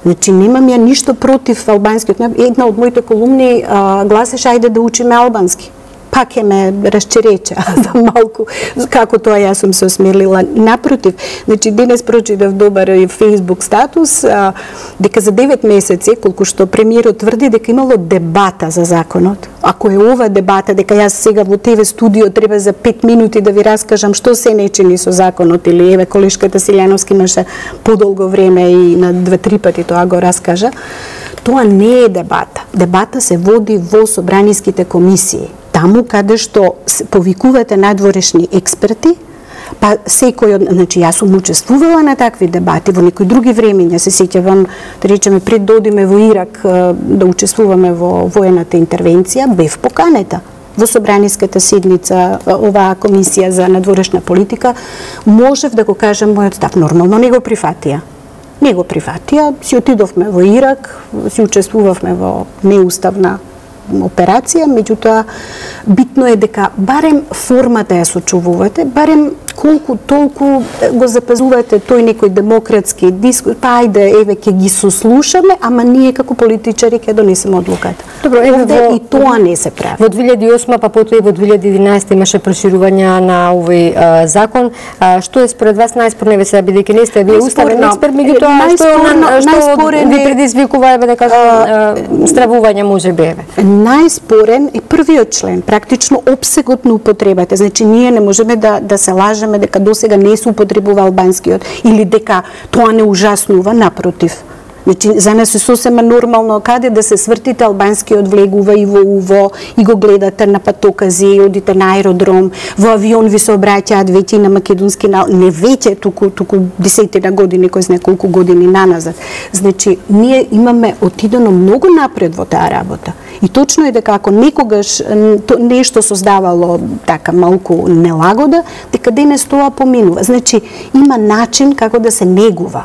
Speaker 2: значи немам ја ништо против албанскиот. Една од моите колумни гласеше ајде да учиме албански. Пак е ме расчереча за малку како тоа јас сум се осмелила. Напротив, значи денес прочитав добар Facebook статус дека за 9 месеци, колку што премиерот тврди дека имало дебата за законот. Ако е ова дебата, дека јас сега во ТВ студио треба за 5 минути да ви раскажам што се не чини со законот, или еве колешката Силјановска имаше подолго време и на 2-3 пати тоа го раскажа, тоа не е дебата. Дебата се води во собраниските комисии. Таму каде што повикувате надворешни експерти, па секој од, значи јас сум учествувала на такви дебати во некои други времења, се сеќавам, да речеме пред да одиме во Ирак да учествуваме во воената интервенција, бев поканета во собраниската седница оваа комисија за надворешна политика, можев да го кажам мојот став, нормално не го прифатија. Не го прифатија, си отидовме во Ирак, си учествувавме во неуставна операција, меѓутоа битно е дека барем формата ја сочувувате, барем колку толку го запазувате тој некој демократски дискурс, па ајде еве ќе ги сослушаме, ама ние како политичари ќе донесеме одлуката.
Speaker 1: Добро,
Speaker 2: и тоа не се прави.
Speaker 1: Во 2008 па потоа и во 2011 имаше проширување на овој закон. Што е според вас најспорно, сега бидејќи не сте вие уставен експерт, меѓутоа што ви предизвикува еве да кажам стравување можеби еве?
Speaker 2: Најспорен е првиот член, практично опсегот на употребата. Значи ние не можеме да се лажеме дека досега не се употребува албанскиот или дека тоа не ужаснува, напротив. Значи, за нас е сосема нормално каде да се свртите албанскиот влегува и во УВО и го гледате на патокази, одите на аеродром, во авион ви се обраќаат веќе на македонски, не веќе, туку десетина години, кој знае колку години наназад. Значи, ние имаме отидено многу напред во таа работа. И точно е дека ако некогаш нешто создавало така малку нелагода, дека денес тоа поминува. Значи, има начин како да се негува.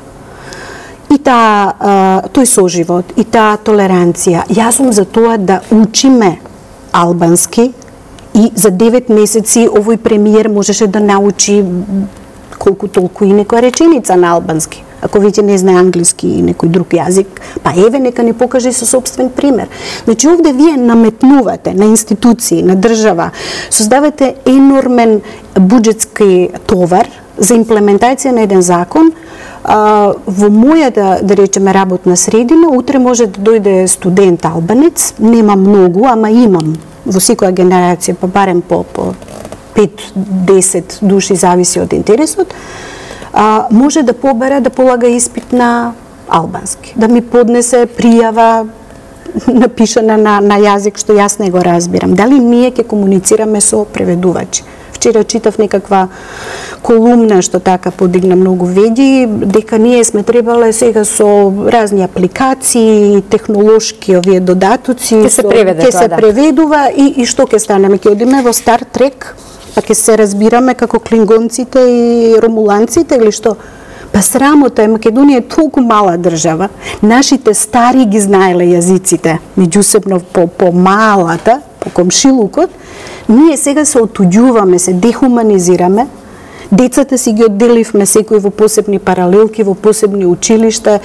Speaker 2: И тој соживот, и таа толеранција. Јас сум за тоа да учиме албански и за 9 месеци овој премиер можеше да научи колку толку и некоја реченица на албански. Ако веќе не знае англиски и некој друг јазик, па еве нека ни покаже со собствен пример. Значи овде вие наметнувате на институции, на држава, создавате енормен буџетски товар за имплементација на еден закон. Во мојата, да речеме, работна средина, утре може да дојде студент албанец, нема многу, ама имам во секоја генерација, па барем по 5-10 души, зависи од интересот, може да побара да полага испит на албански, да ми поднесе пријава напишана на јазик што јас не го разбирам. Дали ние ќе комуницираме со преведувачи? Вчера читав некаква колумна што така подигна многу веди, дека ние сме требале сега со разни апликации, технолошки овие додатоци,
Speaker 1: ќе се
Speaker 2: преведува и што ќе станеме? Ќе одиме во Стар Трек, па ќе се разбираме како клингонците и ромуланците или што? Па срамота е, Македонија е толку мала држава, нашите стари ги знаеле јазиците, меѓусебно по малата, по комшилукот, ние сега се отуѓуваме, се дехуманизираме, децата си ги одделивме секој во посебни паралелки, во посебни училишта.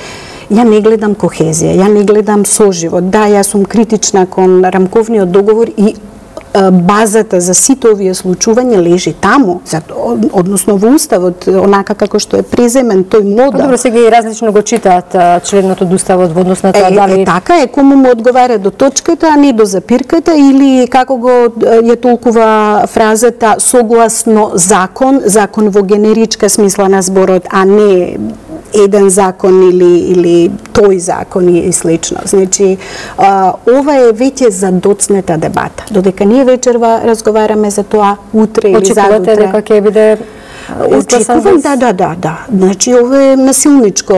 Speaker 2: Ја не гледам кохезија, ја не гледам соживот. Да, јас сум критична кон рамковниот договор и базата за сите овие случувања лежи таму, односно во Уставот, онака како што е преземен тој модел.
Speaker 1: Добро, сега и различно го читаат членот од Уставот во однос на тоа дали...
Speaker 2: Така е, кому му одговара до точката, а не до запирката, или како го ја толкува фразата согласно закон, закон во генеричка смисла на зборот, а не еден закон или тој закон и слично. Значи, ова е веќе задоцнета дебата. Додека ние вечерва разговараме за тоа, утре или задутре.
Speaker 1: Очекувате дека ќе биде
Speaker 2: очекувам, да. Значи, ова е насилничко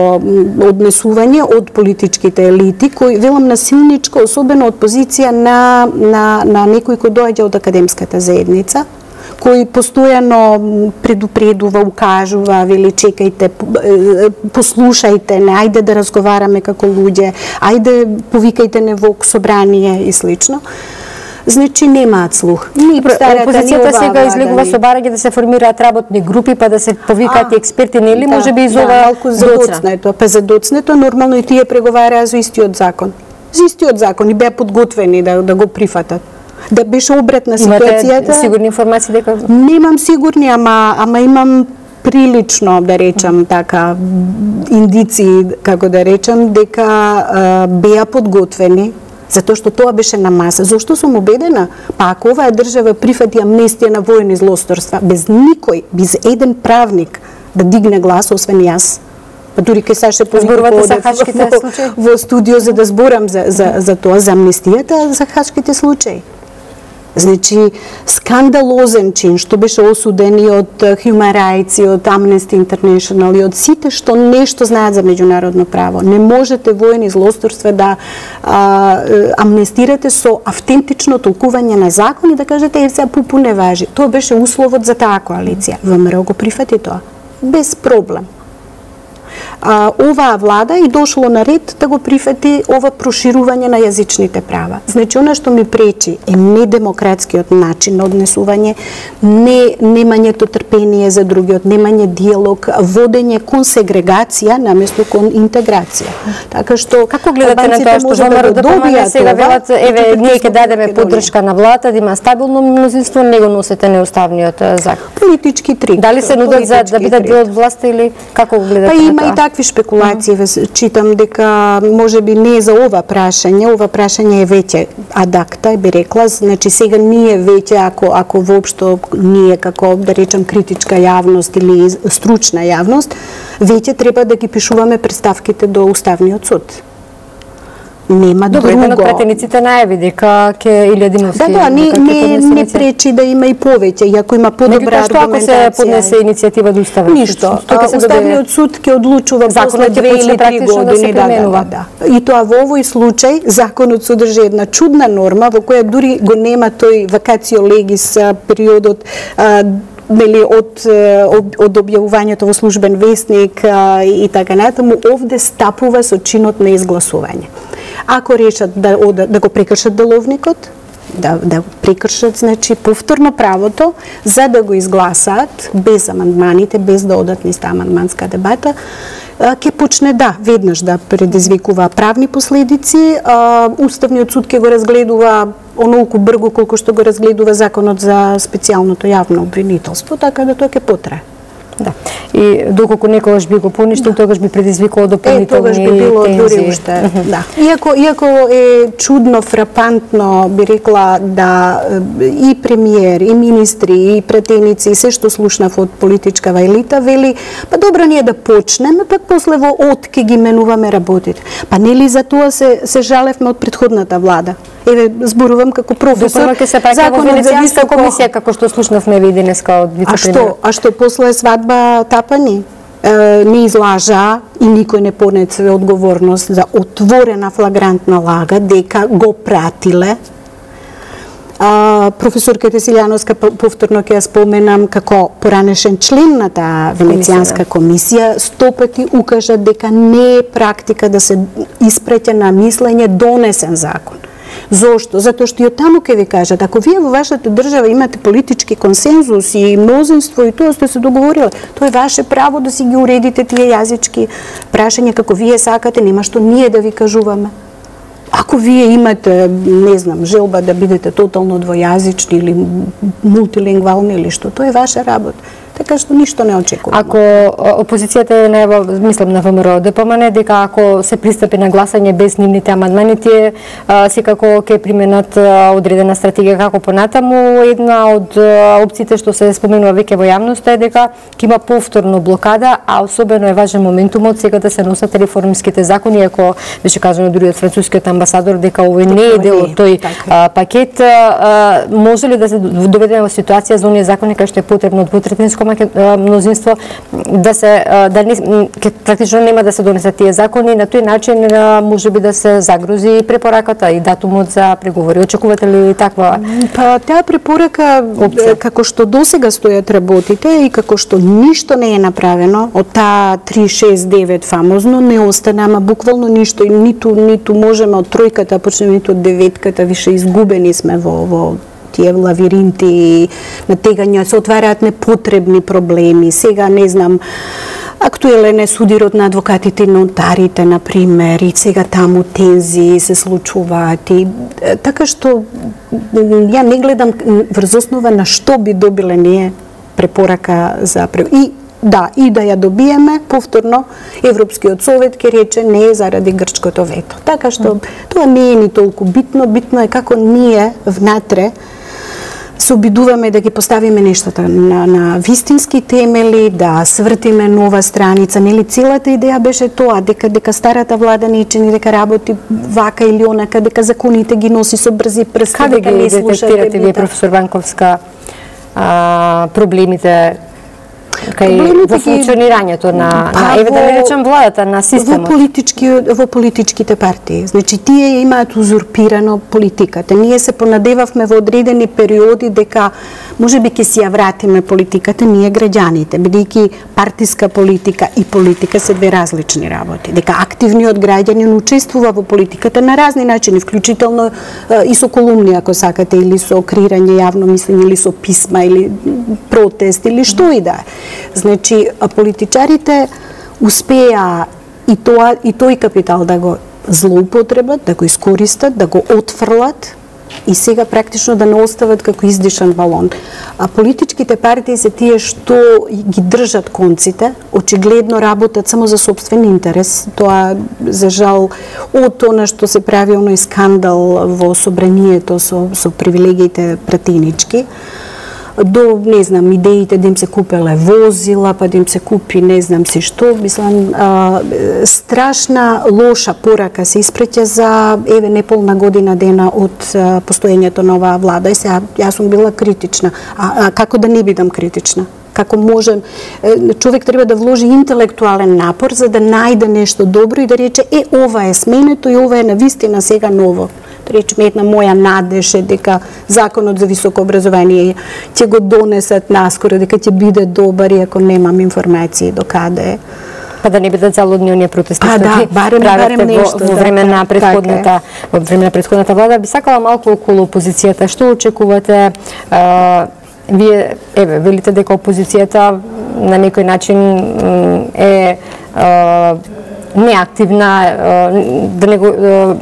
Speaker 2: однесување од политичките елити, кои, велам насилничко, особено од позиција на некој кој доаѓа од академската заедница, кој постојано предупредува, укажува, вели чекајте, послушајте не, ајде да разговараме како луѓе, ајде повикајте не во собрание и слично. Значи немаат слух.
Speaker 1: Опозицијата сега излегува со барање да се формираат работни групи, па да се повикаат и експерти, нели може би из ова
Speaker 2: задоцнето. Па задоцнето нормално и тие преговараа за истиот закон. За истиот закон и беа подготвени да го прифатат. Да беше обратна ситуацијата.
Speaker 1: Имате сигурни информации дека?
Speaker 2: Немам сигурни, ама имам прилично, да речам така, индиции, како да речам, дека беа подготвени, затоа што тоа беше на маса. Зошто сум убедена? Па ако оваа држава прифати амнестија на воени злосторства, без никој, без еден правник да дигне глас, освен јас, па дури кај Саше Поликов во студио за да зборам за тоа, за амнестијата, за хачките случаи. Значи, скандалозен чин, што беше осуден и од Human Rights, и од Amnesty International, и од сите што нешто знаат за меѓународно право. Не можете воени злосторства да амнестирате со автентично толкување на закон и да кажете, сега пупу не важи. Тоа беше условот за таа коалиција. ВМРО го прифати тоа. Без проблем. Оваа влада и дошло на ред да го прифати ова проширување на јазичните права. Значи, она што ми пречи е недемократскиот начин на однесување, немањето трпение за другиот, немање диалог, водење кон сегрегација наместо кон интеграција. Така што
Speaker 1: како гледате на тоа што ВМРО да помага сега велат, еве ние ќе дадеме поддршка на владата, да има стабилно мнозинство, не го носете неуставниот закон.
Speaker 2: Политички трик.
Speaker 1: Дали се нудат за да бидат дел од власта или како го гледате?
Speaker 2: Па има и такви шпекулации, читам дека можеби не за ова прашање е веќе адакта, би рекла, значи сега ние веќе, ако воопшто ние како, да речем, критичка јавност или стручна јавност, веќе треба да ги пишуваме представките до Уставниот суд. Нема друго.
Speaker 1: Добро, еден од претениците најави дека ќе Илија Димовски...
Speaker 2: Да, не пречи да има и повеќе, и ако има подобра аргументација.
Speaker 1: Меѓутоа, што ако се поднесе иницијатива до Уставен суд?
Speaker 2: Ништо. Уставниот суд ќе одлучува после 2 или 3 години. Да. И тоа во овој случај, законот содржи една чудна норма во која дури го нема тој вакацио легис периодот од објавувањето во службен весник и така натаму, овде стапува со чинот на изгласување. Ако решат да го прекршат деловникот, да прекршат, значи, повторно правото за да го изгласаат без амандманите, без да одат низ таа амандманска дебата, ќе почне веднаш да предизвикува правни последици. Уставниот суд ќе го разгледува онолку брзо колку што го разгледува законот за специјалното јавно обвинителство, така да тоа ќе потрае.
Speaker 1: Да. И доколку некогаш би го поништил, тогаш би предизвикало дополнителни
Speaker 2: тогаш би било
Speaker 1: тензии.
Speaker 2: дури уште, да. Иако е чудно, фрапантно, би рекла, да и премиер, и министри, и претеници, и се што слушнав од политичкава елита, вели, па добро ние да почнеме, пак после во од ке ги менуваме работите. Па нели за тоа се жалевме од претходната влада? Еве, зборувам како професор.
Speaker 1: Допрва ке се праќа во Венецијанска комисија, како што слушнавме ви денеска од вице-премиер.
Speaker 2: А што после свадба Тапани? Не излажа и никој не понесе одговорност за отворена флагрантна лага дека го пратиле. Професорката Силјановска, повторно ќе ја споменам, како поранешен член на таа Венецијанска комисија, 100 пати укажа дека не е практика да се испреќа на мислење донесен закон. Зошто? Затоа што и од таму ќе ви кажат, ако вие во вашата држава имате политички консензус и мнозинство и тоа сте се договориле, тоа е ваше право да си ги уредите тие јазички прашања како вие сакате, нема што ние да ви кажуваме. Ако вие имате, не знам, желба да бидете тотално двојазични или мултилингвални или што, тоа е ваша работа. Така што ништо не очекуваме.
Speaker 1: Ако опозицијата не мислам на ВМРО ДПМН дека ако се пристапи на гласање без нивните амандмани, тие секако ќе применат одредена стратегија како понатаму. Една од опциите што се споменува веќе во јавноста е дека ќе има повторно блокада, а особено е важен моментумот сега да се носат реформските закони, ако беше кажано дури од францускиот амбасадор дека овој не е дел од тој пакет. Може ли да се доведеме во ситуација за оние закони кај што е потребно двотретинско мнозинство да не практично нема да се донесат тие закони, на тој начин можеби да се загрози препораката и датумот за преговори. Очекувате ли таква?
Speaker 2: Па таа препорака како што досега стојат работите и како што ништо не е направено од таа 369 фамозно не остана, ама буквално ништо и ниту можеме од тројката почнеме ниту од деветката, више изгубени сме во тие лавиринти, натегања, се отвараат непотребни проблеми. Сега, не знам, актуелен е судирот на адвокатите и нотарите, например, и сега таму тензии се случуваат. И, така што, ја не гледам врз основа на што би добиле ние препорака за и да ја добиеме, повторно, Европскиот совет ќе рече не е заради грчкото вето. Така што, тоа не е ни толку битно, битно е како ние внатре се обидуваме да ги поставиме нештата на вистински темели, да свртиме нова страница. Нели целата идеја беше тоа, дека старата влада не чини, дека работи вака или онака, дека законите ги носи со брзи прсти, дека не слуша.
Speaker 1: Каде ги детектирате вие, професор Ванковска, проблемите во функционирањето на еве да не речем владата, на системот?
Speaker 2: Во политичките партии. Значи, тие имаат узурпирано политиката. Ние се понадевавме во одредени периоди дека можеби ќе си ја вратиме политиката ние граѓаните, бидејќи партиска политика и политика се две различни работи. Дека активниот граѓанин учествува во политиката на разни начини, вклучително и со колумни, ако сакате, или со креирање јавно мислење, или со писма, или протест, или што и да е. Значи, политичарите успеа и тој капитал да го злоупотребат, да го искористат, да го отфрлат и сега практично да не остават како издишан балон. А политичките партии се тие што ги држат конците, очигледно работат само за сопствен интерес. Тоа, за жал, од она што се прави оној скандал во собранието со привилегиите пратенички, до, не знам, идеите да им се купеле возила, па да им се купи не знам се што, мислам, страшна лоша порака се испреќа за еве неполна година дена од постоењето на оваа влада. И сега јас сум била критична. А како да не бидам критична? Како можем, човек треба да вложи интелектуален напор за да најде нешто добро и да рече ова е сменето и ова е навистина сега ново. Речеме, една моја надеж е дека законот за високо образование ќе го донесат наскоро, дека ќе биде добар, иако немам информации до каде.
Speaker 1: Па да не бидат залудни оние протести
Speaker 2: што барем нешто
Speaker 1: во време на претходната влада. Би сакала малку околу опозицијата. Што очекувате? Вие, еве, велите дека опозицијата на некој начин е неактивна, да него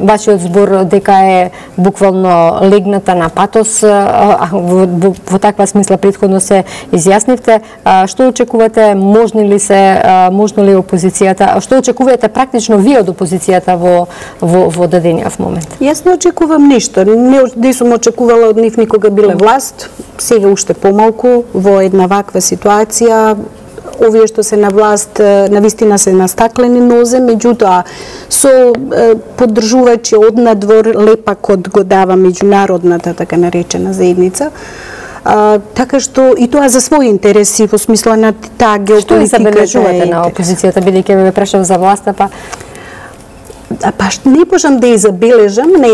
Speaker 1: вашиот збор дека е буквално легната на патос, во таква смисла претходно се изјаснивте. Што очекувате, можно ли опозицијата, што очекувате практично вие од опозицијата во дадениот момент?
Speaker 2: Јас не очекувам ништо, не сум очекувала од нив никога биле власт, сега уште помалку во една ваква ситуација. Овие што се на власт навистина се на стаклени нозе, меѓутоа со поддржувачи од надвор лепакот го дава меѓународната така наречена заедница. Така што и тоа за своји интереси во смисла на таа геополитика.
Speaker 1: Што забележувате на опозицијата, бидејќи ве прашав за власта, па
Speaker 2: не можам да ја забележам на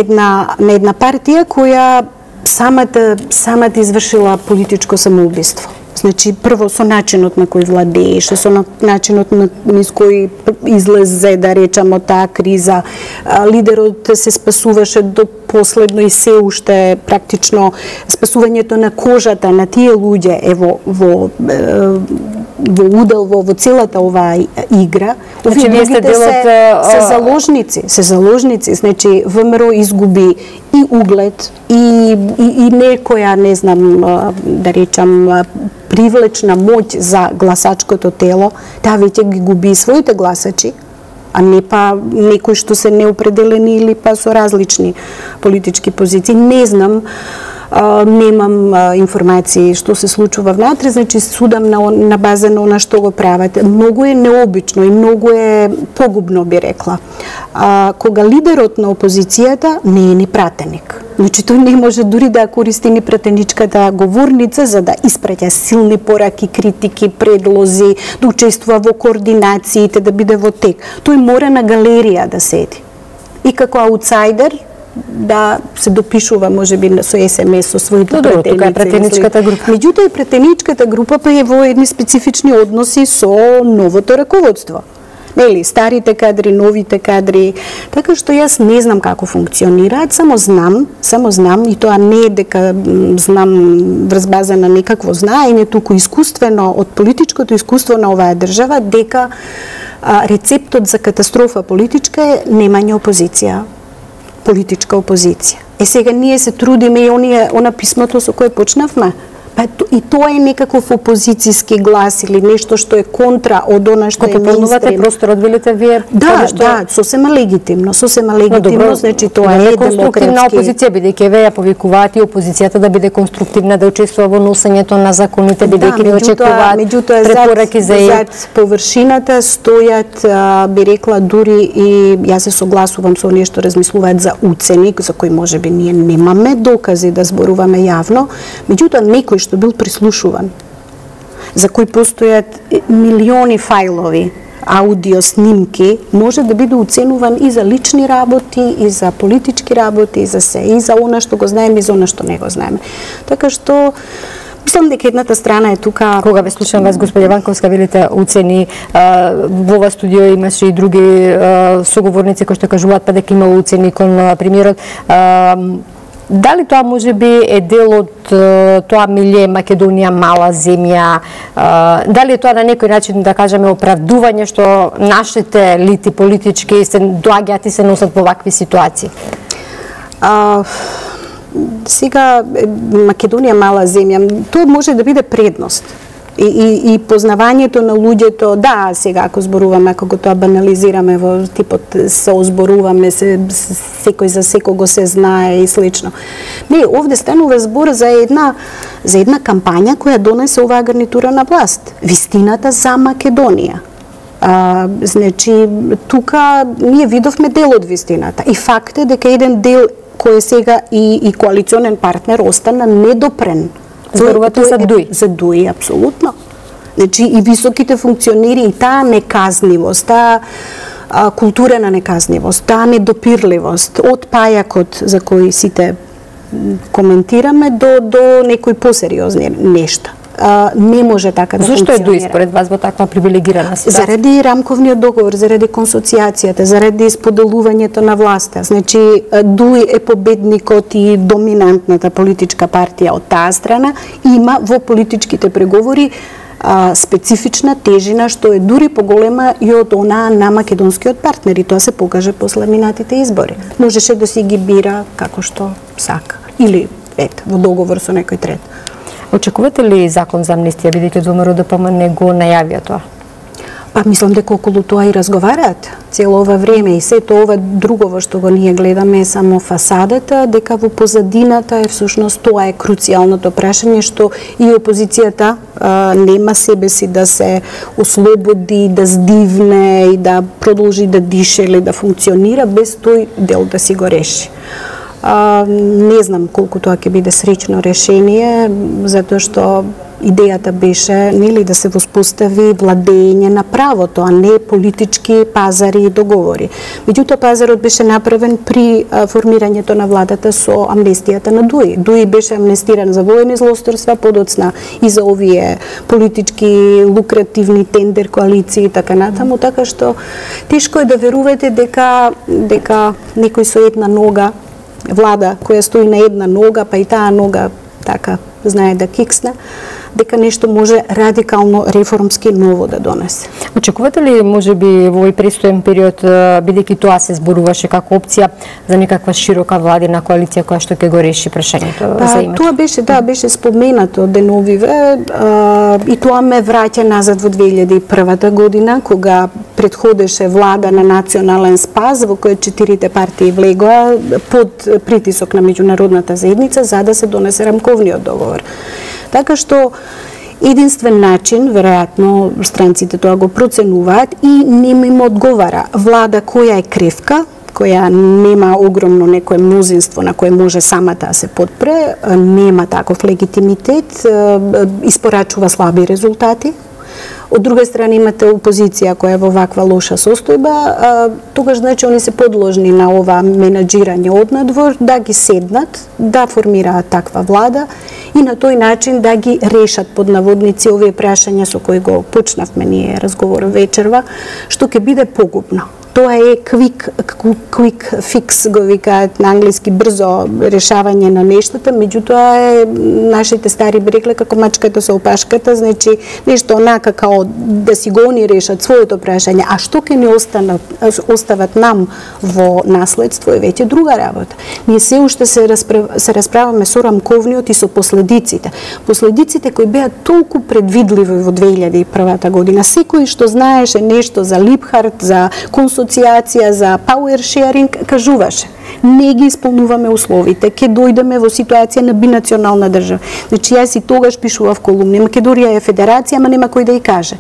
Speaker 2: една партија која самата извршила политичко самоубиство. Значи, прво со начинот на кој владееше, со начинот на кој излезе, да речам, од таа криза. Лидерот се спасуваше до последно и се уште практично спасувањето на кожата на тие луѓе во удел во целата оваа игра.
Speaker 1: Овие луѓето
Speaker 2: се заложници, значи ВМРО изгуби и углед и некоја, не знам, да речам, привлечна моќ за гласачкото тело, таа веќе ги губи своите гласачи, а не па некои што се неопределени или па со различни политички позиции. Не знам, немам информации што се случува внатре, значи судам на база на она што го прават. Многу е необично и многу е погубно, би рекла. Кога лидерот на опозицијата не е ни пратеник. Значи тој не може дури да користи ни пратеничката говорница за да испраќа силни пораки, критики, предлози, да учествува во координациите, да биде во тек. Тој мора на галерија да седи. И како аутсайдер да се допишува можеби со СМС со своите пратеници.
Speaker 1: Тука е пратеничката група.
Speaker 2: Меѓутоа и пратеничката група па е во едни специфични односи со новото раководство. Нели, старите кадри, новите кадри. Така што јас не знам како функционираат, само знам и тоа не е дека знам врз база на некакво знаење, туку искуствено од политичкото искуство на оваа држава дека рецептот за катастрофа политичка е немање опозиција. Политичка опозиција. Сега ние се трудиме и она писмото со кое почнавме. И тоа е некаков опозицијски глас или нешто што е контра од она што е мејнстрим.
Speaker 1: Пополнувате просторот, велите вие?
Speaker 2: Да, сосема легитимно, значи тоа е
Speaker 1: конструктивна опозиција, бидејќи ве ја повикуваат и опозицијата да биде конструктивна, да учествува во носењето на законите, бидејќи не очекуваат препораки за
Speaker 2: зад површината стојат, би рекла, дури и јас се согласувам со оние што размислуваат за уценик, за кој можеби ние немаме докази да зборуваме јавно, меѓутоа некој што бил прислушуван, за кој постојат милиони фајлови, аудио снимки, може да биде оценуван и за лични работи, и за политички работи, и за се, и за она што го знаеме, и за она што не го знаеме. Така што мислам дека едната страна е тука.
Speaker 1: Кога ве слушам вас, господја Ванковска, велите уцени, во ова студио имаше и други соговорници кои што кажуваат па дека има уцени кон премиерот. Дали тоа може би е дел од тоа милје Македонија мала земја? Дали е тоа на некој начин, да кажеме, оправдување што нашите лити политички се доаѓаат и се носат во вакви ситуации?
Speaker 2: Сега Македонија мала земја, тоа може да биде предност. И познавањето на луѓето, да, сега ако зборуваме, ако го тоа банализираме во типот се озборуваме, секој за секого се знае и слично. Не, овде станува збор за една кампања која донесе оваа гарнитура на власт. Вистината за Македонија. Значи, тука ние видовме дел од вистината. И факт е дека еден дел кој е сега и коалиционен партнер остана недопрен.
Speaker 1: Зборувате за ДУИ?
Speaker 2: За ДУИ, апсолутно. Значи, и високите функционери, и таа неказнивост, таа култура на неказнивост, таа недопирливост, од пајакот за кој сите коментираме до некои посериозни нешта. Не може така да функционира.
Speaker 1: Зошто е ДУИ според вас во таква привилегирана ситуација?
Speaker 2: Заради рамковниот договор, заради консоцијацијата, заради споделувањето на власта. Значи, ДУИ е победникот и доминантната политичка партија од таа страна, има во политичките преговори специфична тежина што е дури поголема и од она на македонскиот партнер, и тоа се покаже после минатите избори. Можеше да си ги бира како што сака или во договор со некој трет.
Speaker 1: Очекувате ли закон за амнестија, бидејќи ВМРО ДПМН го најавија тоа?
Speaker 2: Па мислам дека околу тоа и разговараат цело ова време, и сето ова друго што го ние гледаме е само фасадата, дека во позадината е всушност тоа е круцијалното прашање што и опозицијата нема себе си да се ослободи, да здивне и да продолжи да дише или да функционира без тој дел да си го реши. Не знам колку тоа ќе биде среќно решение, затоа што идејата беше нели да се воспостави владење на правото, а не политички пазари и договори. Меѓутоа пазарот беше направен при формирањето на владата со амнестијата на Дуи. Дуи беше амнестиран за воени злосторства, подоцна и за овие политички лукративни тендер коалиции и така натаму, така што тешко е да верувате дека некој со една нога, влада која стои на една нога, па и таа нога така знае да киксне, дека нешто може радикално реформски ново да донесе.
Speaker 1: Очекувате ли можеби во овој престоен период, бидејќи тоа се зборуваше како опција за некаква широка владина коалиција која што ќе го реши прашањето за името?
Speaker 2: Тоа беше, беше споменато деновиве, и тоа ме враќа назад во 2001 година, кога предходеше влада на национален спас, во која 4 партии влегоа под притисок на меѓународната заедница за да се донесе рамковниот договор. Така што единствен начин, веројатно странците тоа го проценуваат и не им одговара влада која е кревка, која нема огромно некое мнозинство на кое може самата да се подпре, нема таков легитимитет, испорачува слаби резултати. Од друга страна имате опозиција која е во ваква лоша состојба, тогаш значи они се подложни на ова менаџирање однадвор, да ги седнат, да формираат таква влада и на тој начин да ги решат под наводници овие прашања со кои го почнавме ние разговор вечерва, што ќе биде погубно. Тоа е quick fix, го викаат на англиски, брзо решавање на нештата, меѓутоа е нашите стари би рекле како мачката со опашката, значи нешто онака као да си го они решат своето прашање, а што ќе не остават нам во наследство е веќе друга работа. Ние се уште се расправаме со рамковниот и со последиците. Последиците кои беа толку предвидливи во 2001 година, секој што знаеше нешто за Липхарт, за асоциација за power sharing кажуваше: не ги исполнуваме условите, ќе дојдеме во ситуација на бинационална држава. Значи јас и тогаш пишував колумни: Македонија е федерација, ама нема кој да ја каже.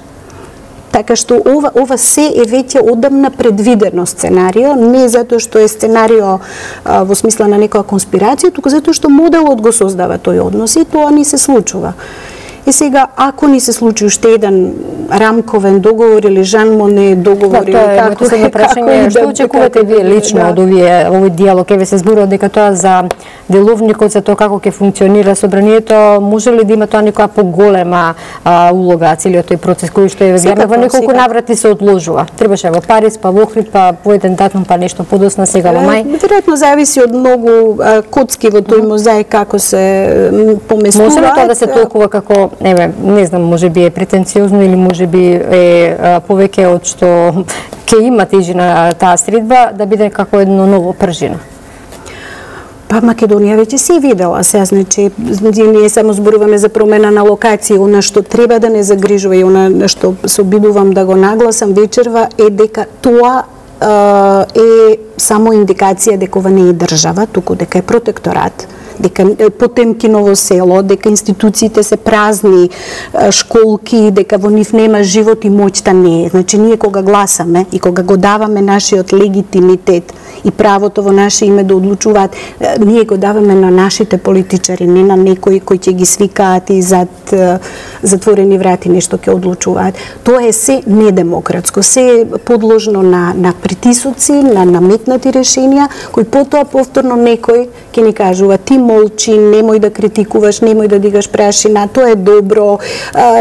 Speaker 2: Така што ова се е веќе одамна предвидено сценарио, не затоа што е сценарио во смисла на некоја конспирација, туку затоа што моделот го создава тој однос и тоа ни се случува. И сега, ако ни се случи уште еден рамковен договор или Жан Моне договор, или
Speaker 1: како прашање, што очекувате вие лично од овој диалог? Еве се зборува дека тоа за деловникот, за тоа како ќе функционира собранието, може ли да има тоа некоја поголема улога целиот тој процес кој што е во неколку наврати се одложува? Требаше во Париз, па во Охрид, па по еден датум, па нешто подосна сега во мај.
Speaker 2: Веројатно зависи од многу коцки во тој мозаик како се поместуваат.
Speaker 1: Може ли тоа да се толкува како, не знам, може би е претенциозно или може би е повеќе од што ќе има тежина таа средба, да биде како едно ново пржино?
Speaker 2: Па Македонија веќе се видела. Сега, значи, ние само зборуваме за промена на локација. Она што треба да не загрижува и она што се обидувам да го нагласам вечерва е дека тоа е само индикација дека ова не е држава, туку дека е протекторат, дека Потемкиново село, дека институциите се празни, школки, дека во нив нема живот и моќта не е. Значи, ние кога гласаме и кога го даваме нашиот легитимитет и правото во наше име да одлучуваат, ние го даваме на нашите политичари, не на некои кои ќе ги свикаат и зад затворени врати нешто ќе одлучуваат. Тоа е се недемократско, се е подложно на притисоци, на наметнати решенија, кои потоа повторно некој ќе ни кажува: ти молчи, немој да критикуваш, немој да дигаш прашина, тоа е добро,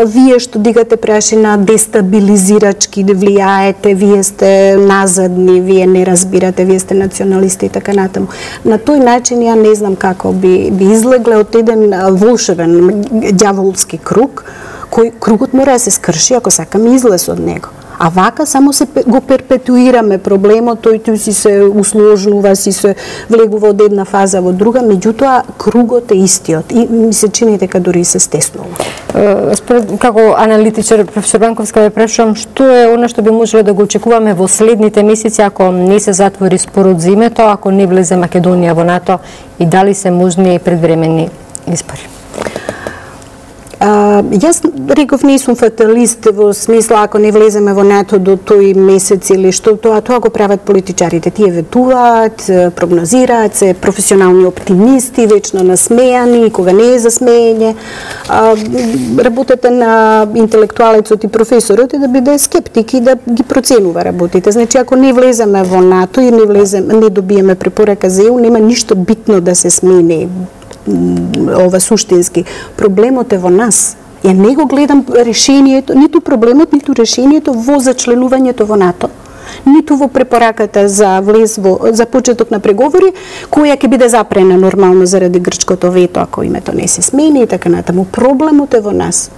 Speaker 2: вие што дигате прашина дестабилизирачки влијаете, вие сте назадни, вие не разбирате, вие сте националисти и така натаму. На тој начин ја не знам како би излегле од еден волшебен ѓаволски круг, кој кругот мора да се скрши ако сакаме излез од него. А вака само се го перпетуираме проблемот, тој си се усложнува, си се влегува од една фаза во друга, меѓутоа кругот е истиот и ми се чини дека дури се стеснува.
Speaker 1: Како аналитичар, професор Ванковска, ве прашувам, што е она што би можело да го очекуваме во следните месеци ако не се затвори спорот за името, ако не влезе Македонија во НАТО и дали се можни предвременни избори?
Speaker 2: Јас реков не сум фаталист во смисла ако не влеземе во НАТО до тој месец или што тоа го прават политичарите. Тие ветуваат, прогнозираат, се професионални оптимисти, вечно насмејани, кога не е за смеење. Работата на интелектуалецот и професорот е да биде скептик и да ги проценува работите. Значи ако не влеземе во НАТО и не добиеме препорака за ЕУ, нема ништо битно да се смени. Ова суштински. Проблемот е во нас. Ја не го гледам решението, ниту проблемот, ниту решението во зачленувањето во НАТО, ниту во препораката за за почеток на преговори, која ќе биде запрена нормално заради грчкото вето ако името не се смени и така натаму. Проблемот е во нас.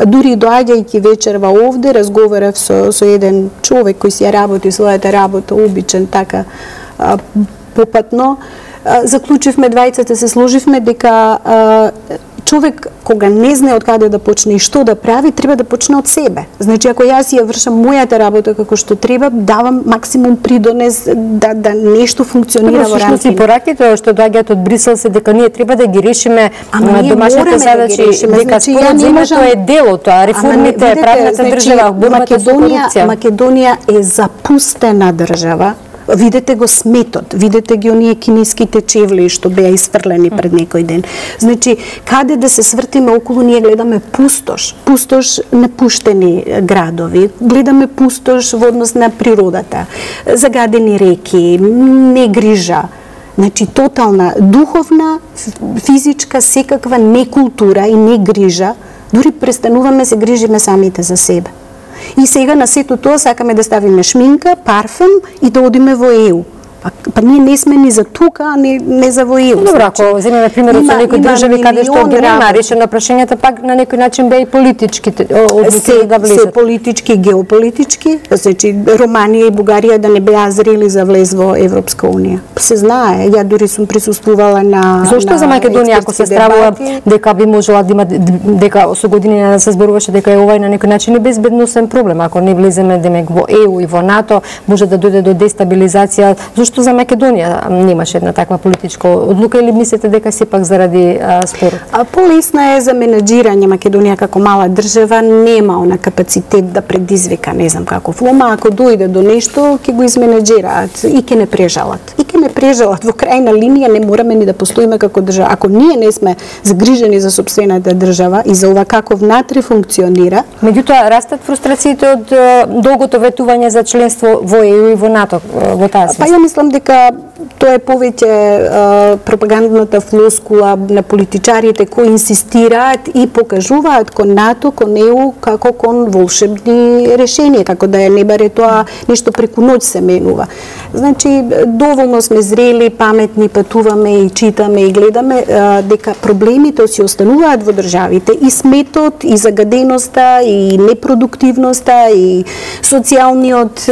Speaker 2: Дури доаѓајќи вечерва овде, разговарав со еден човек кој си ја работи својата работа, обичен така попатно. Заклучивме двајцата, се сложивме дека човек кога не знае од каде да почне и што да прави, треба да почне од себе. Значи ако јас ја вршам мојата работа како што треба, давам максимум придонес да нешто функционира во рамките.
Speaker 1: И пораките што доаѓаат од Брисел се дека ние треба да ги решиме домашните задачи, дека според земјата е дел од тоа, реформите, правната држава, борбата со корупција.
Speaker 2: Македонија е запустена држава. Видете го сметот, видете ги оние кинеските чевли што беа изфрлени пред некој ден. Значи, каде да се свртиме околу, ние гледаме пустош, напуштени градови, гледаме пустош во однос на природата, загадени реки, не грижа. Значи, тотална, духовна, физичка, секаква некултура и не грижа, дури престануваме се грижиме самите за себе. И сега на сето тоа сакаме да ставиме шминка, парфем и да одиме во ЕУ. Па ние не сме ни за тука, а не за во ЕУ.
Speaker 1: Добро, ако земеме примерот со некои држави каде што ги нема решено прашањата, пак на некој начин беа и политичките одлуки да влезат.
Speaker 2: Се политички, геополитички, значи Романија и Бугарија да не беа зрели за влез во Европска унија. Се знае, ја дури сум присуствувала на
Speaker 1: Зошто за Македонија ако се стравува дека би можела да има дека со години да се зборуваше дека е ова на некој начин и безбедносен проблем, ако не влеземе демек во ЕУ и во НАТО, може да дојде до дестабилизација. Што за Македонија немаше една таква политичка одлука или мислите дека сепак заради спорот?
Speaker 2: Полесна е за менаџирање. Македонија како мала држава нема она капацитет да предизвика, не знам каков лома, ако дојде до нешто ќе го изменаџираат и ќе не прежалат. И ќе не прежалат. Во крајна линија не мораме ни да постоиме како држава. Ако ние не сме загрижени за сопствената држава и за ова како внатре функционира,
Speaker 1: меѓутоа растат фрустрациите од долгото ветување за членство во ЕУ и во НАТО во таа смисла.
Speaker 2: Па ја мислам дека тоа е повеќе пропагандната флоскула на политичарите кои инсистираат и покажуваат кон НАТО, кон ЕУ како кон волшебни решенија, како да не баре тоа нешто преку ноќ се менува. Значи, доволно сме зрели, паметни, патуваме и читаме и гледаме дека проблемите си остануваат во државите и сметот, и загаденоста, и непродуктивноста, и социјалниот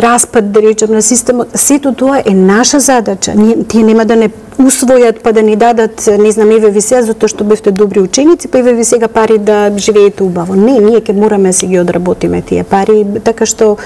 Speaker 2: распад, да речем, на системот. Сето тоа е наша задача. Тие нема да не усвојат па да ни дадат, не знам, еве ви сега затоа што бевте добри ученици, па еве ви сега пари да живеете убаво. Не, ние ќе мораме да си ги одработиме тие пари, така што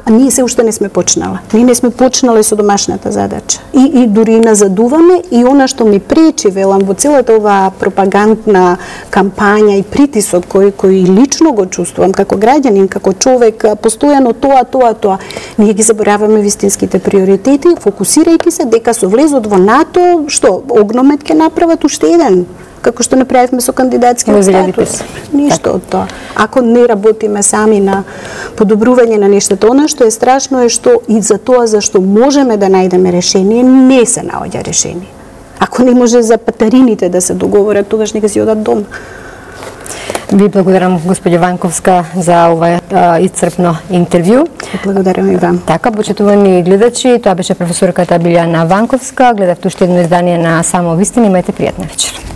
Speaker 2: ние се уште не сме почнала. Ние не сме почнале со домашната задача. И дури назадуваме и она што ми пречи, велам, во целата оваа пропагандна кампања и притисок кој лично го чувствувам како граѓанин, како човек, постојано тоа. Ние ги забораваме вистинските приоритети, фокусирајќи се дека со влезот во НАТО, што, огномет ќе направат уште еден, како што направивме со кандидатскиот статус. Ништо од тоа. Ако не работиме сами на подобрување на нештата, она што е страшно е што и за тоа за што можеме да најдеме решение, не се наоѓа решение. Ако не може за патарините да се договорат, тогаш нека си одат дома.
Speaker 1: Ви благодарам, господја Ванковска, за ова исцрпно интервју.
Speaker 2: Благодарам и вам.
Speaker 1: Така, почитувани гледачи, тоа беше професорката Билјана Ванковска. Гледавте уште едно издание на Само вистина. Имајте пријатна вечер.